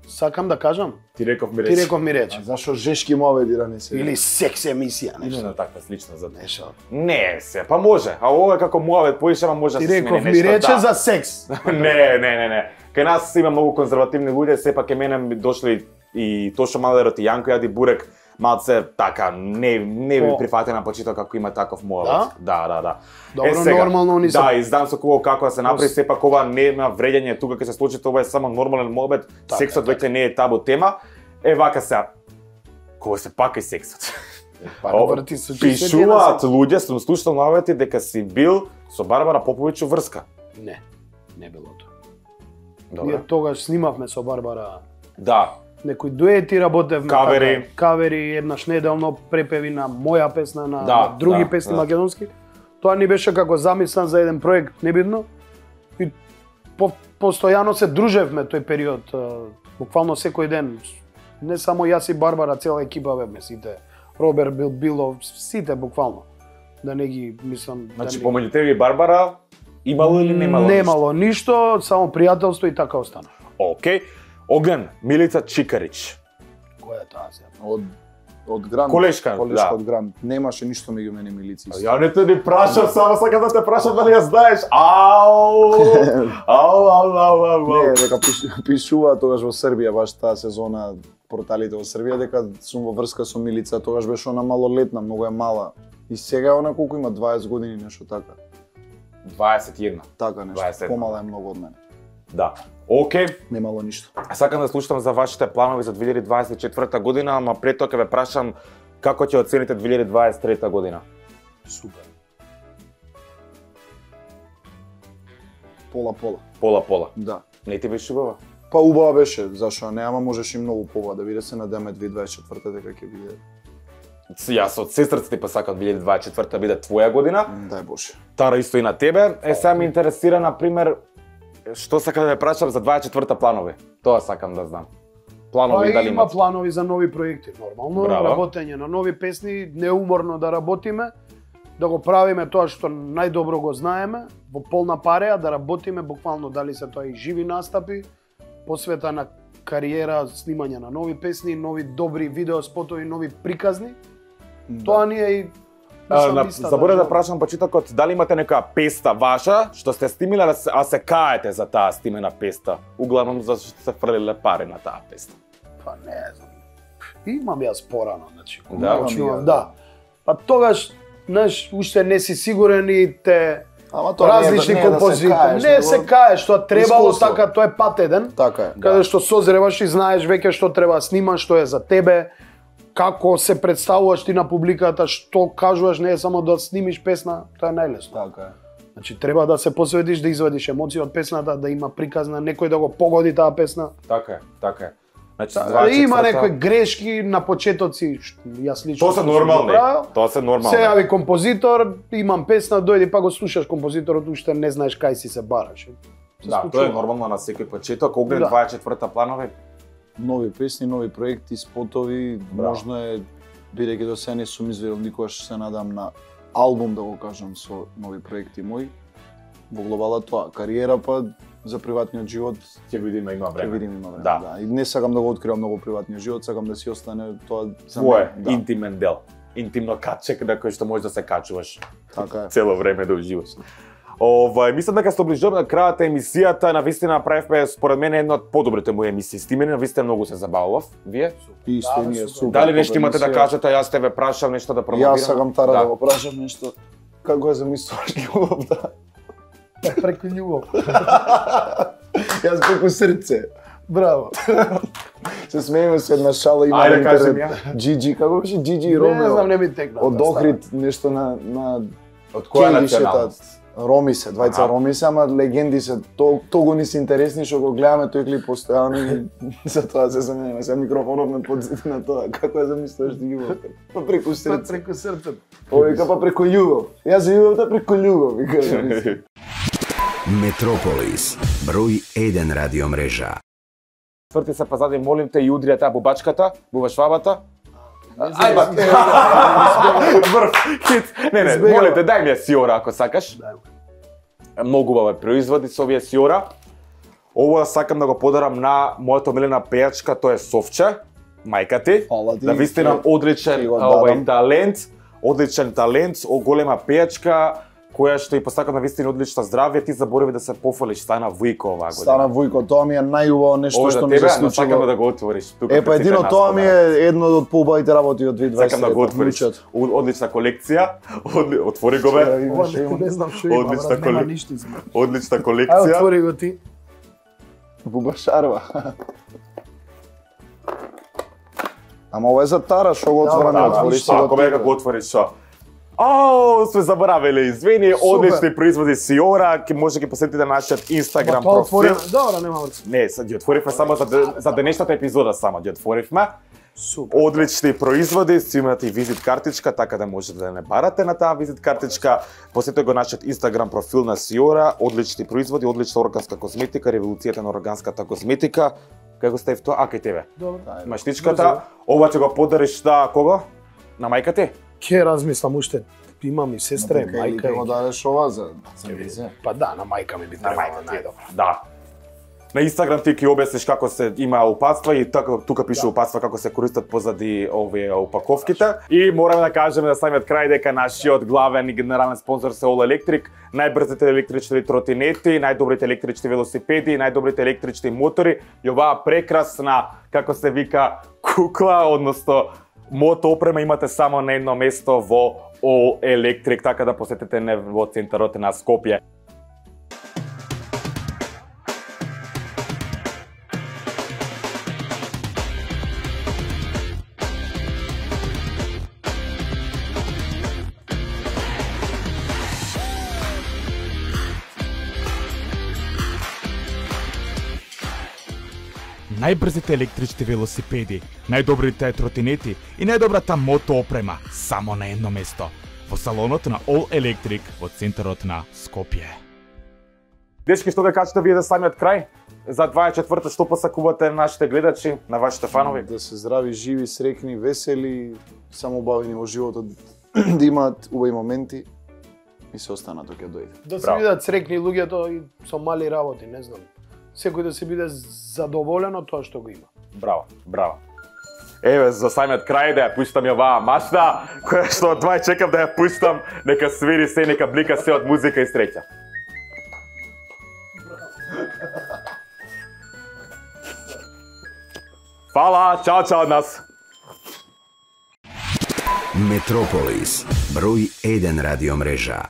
D: Сакам да кажам.
B: Ти реков ми речи.
C: Зашо жешки моведи не се?
D: Или секс емисија, нешто.
B: Именно таква слична за
D: нешто.
B: Не се, па може. А ова е како мовет поише, ама може да се смени нешто.
D: Ти реков ми рече за секс.
B: Не. Кај нас има многу конзервативни луѓе, сепак ке мене дошли и Тошо Малерот и Јанко Јади Бурек, малце така не би прифатена почитал како има таков мовет. Да.
D: Добро, нормално они се.
B: Да, издам со кого како да се направи, сепак ова нема вреѓање тука ќе се случи, ова е само нормален мовет. Сексот веќе не е табу тема. Вака се. Кога се пака и сексот. Пишуваат луѓе, сум слушал навети дека си бил со Барбара Поповиќ врска.
D: Не било тоа.
B: Добре.
D: Ние тогаш снимавме со Барбара.
B: Да.
D: Некои дуети работевме. Кавери еднаш неделно, препеви на моја песна, на други песни македонски. Тоа ни беше како замислен за еден проект, небитно. И постојано се дружевме тој период, буквално секој ден. Не само јас и Барбара, цела екипа бевме сите. Роберт било сите буквално. Да не ги мислам.
B: Значи помеѓу тебе и Барбара имало или немало?
D: Немало ништо, само пријателство и така остана.
B: Океј. Огнен, Милица Чикарич.
D: Која е таа се?
C: Од Грант.
B: Колешка
C: од Грант. Немаше ништо меѓу мене и Милици.
B: Ја не те ни прашав, само сакам да те прашам дали ја знаеш. Ау.
C: Не, дека пишува тогаш во Србија, баш таа сезона, порталите во Србија, дека сум во врска со Милица, тогаш беше она малолетна, многу е мала. И сега е она колку има 20 години, нешто така.
B: 21.
C: Така нешто, помала е многу од мене.
B: Да. Океј.
C: Немало ништо.
B: Сакам да слушам за вашите планови за 2024 година, ама пред тоа ќе ве прашам како ќе оцените 2023 година.
D: Супер.
C: Пола.
B: Да. Не ти беше убава?
C: Па убава беше, зашо не, ама можеш и многу побава да биде, се надеме 2024 дека ќе биде.
B: Јас од сестрата ти па сакам 2024 биде твоја година.
C: Дај Боже.
B: Тара исто и на тебе. Сега ме интересира, например, што сакам да ве прашам за 24-та планови? Тоа сакам да знам. Планови дали
D: има планови за нови проекти, нормално. Работење на нови песни, неуморно да работиме, да го правиме тоа што најдобро го знаеме, во полна пареја, да работиме буквално дали се тоа и живи настапи, посвета на кариера, снимање на нови песни, нови добри видеоспотови, нови приказни. Тоа ни е и
B: заборев да прашам почетокот, дали имате нека песна ваша што сте снимиле, а се каете за таа снимена песна? Углавном зашто сте фрлиле пари на таа песна.
D: Па не знам. Имам јас порано, значи.
B: Да.
D: Па тогаш, знаеш, уште не си сигурен и те различни композитори. Не се каеш, тоа требало така, тоа е пат еден.
C: Така е.
D: Каде што созреваш и знаеш веќе што треба да снимаш, што е за тебе. Како се представуваш ти на публиката, што кажуваш, не е само да снимиш песна, тоа е најлесно.
C: Така е.
D: Значи треба да се посветиш, да извадиш емоции од песната, да има приказна, некој да го погоди таа песна.
B: Така е. Значи,
D: има некои грешки на почетоци, јас лично.
B: Тоа се нормални.
D: Се јави композитор, имам песна, дојди па го слушаш композиторот, уште не знаеш кај си се бараш.
B: Да, тоа е нормално на секој почеток. Огнен 24-та планови.
C: Нови песни, нови проекти, спотови, можно е, бидејќи до сега не сум изведел никогаш, се надам на албум, да го кажам, со нови проекти мои. Во глобала тоа, кариера па за приватниот живот
B: ќе видиме, има време.
C: Да. И не сакам да го откривам многу приватниот живот, сакам да си остане тоа за
B: твое интимен дел. Интимно качек на кој што можеш да се качуваш.
C: Така е.
B: Цело време да уживаш. Мислам дека се доближуваме на крајот на емисијата, навистина направивме според мене една од подобрите мои емисии. С тебе навистина многу се забавував. Вие?
C: Исто ние супер.
B: Дали нешто имате да кажете, јас те ве прашам нешто да промовирам?
C: Јас сакам Тара да го прашам нешто. Како е замислуваш љубовта?
D: Преку љубов.
C: Јас преку срце.
D: Браво.
C: Се смееме се една шала има на интернет. Джиджи, како беше Джиджи и Ромео?
D: Не знам, не ми текна.
C: Од Охрид нешто на
B: од која националност?
C: Роми се, двајца роми се, ама легенди се, того ни се интересни што го гледаме тој клип постојано и за тоа се заменеме. Се микрофонов ме подсети на тоа. Како ја замислуваш ти љубовта? Па преку срце.
D: Преку срцето.
C: Вика па преку љубов. Јас љубовта преку љубов, вика.
A: Метрополис, број 1 радиомрежа.
B: Тврти се позади, молим те, и удрија таа бубачката, бубашвабата. Ајде, врв, хит. Не, молим те, дај ми ја Сиора ако сакаш. Многу убава производи со овие Сиора. Ова сакам да го подарам на мојата омилена пејачка, тоа е Совче, мајка ти. Да вистина одличен талент, голема пејачка, која што и посакам на вистина одлично здравје. Ти заборави да се пофалиш, стана Вујко оваа година.
C: Стана Вујко, тоа ми е најубаво нешто што ми се случило.
B: Сакам да го отвориш.
C: Па едино тоа ми е едно од поубавите работи од 2020.
B: Сакам да го отвориш. Одлична колекција. Отвори го бе.
D: Не знам што има,
B: Одлична
D: нема ништо.
B: Одлична
D: Ај,
B: колекција.
D: отвори го ти.
C: Бубашарва. Ама ова е за Тара, што го отвора, не отвори си
B: Ако бе го отвориш шо. Сме заборавиле, извини, одлични производи Сиора, може ги посетите на нашиот Инстаграм профил.
D: Добра, нема врска.
B: Не, ги отворивме само за денешната епизода само ги отворивме.
D: Супер.
B: Одлични производи, си имате и визит картичка, така да можете да не барате на таа визит картичка. Посетете го нашиот Инстаграм профил на Сиора, одлични производи, одлична органска козметика, револуцијата на органската козметика. Кај го ставив тоа? Кај тебе.
D: Добро.
B: Маштичката, ова ќе го подариш на кого? На мајка ти?
D: Ке размислам уште. Имам и сестра, и мајка.
C: Ќе го дадеш ова за визе.
D: Па да, на мајка ми би требало најдобро.
B: Да. На Инстаграм ти ќе објасниш како се има упатства и тука пише упатства како се користат позади овие упаковките. И мораме да кажеме на самиот крај дека нашиот главен и генерален спонзор се All Electric, најбрзите електрични тротинети, најдобрите електрични велосипеди, најдобрите електрични мотори и оваа прекрасна, како се вика, кукла, односно мото опрема имате само на едно место во All Electric, така да посетите не во центарот на Скопје.
E: Најбрзите електрични велосипеди, најдобрите тротинети и најдобрата мото опрема само на едно место. Во салонот на All Electric во центарот на Скопје.
B: Дечки, што да кажете вие за самиот крај? За 24-та што посакувате на нашите гледачи, на вашите фанови?
C: Да се здрави, живи, срекни, весели, само убавени во животот, да имаат убави моменти и се останато ќе дојде.
D: Да се видат срекни луѓето и со мали работи, не знам. Секој да се биде задоволен од тоа што го има.
B: Браво, браво. Еве, за самиот крај да ја пуштам оваа машта, која што од 2 чекам да ја пуштам, нека свири се, нека блика се од музика и среќа. Фала, чао од нас.
A: Метрополис, број 1 радиомрежа.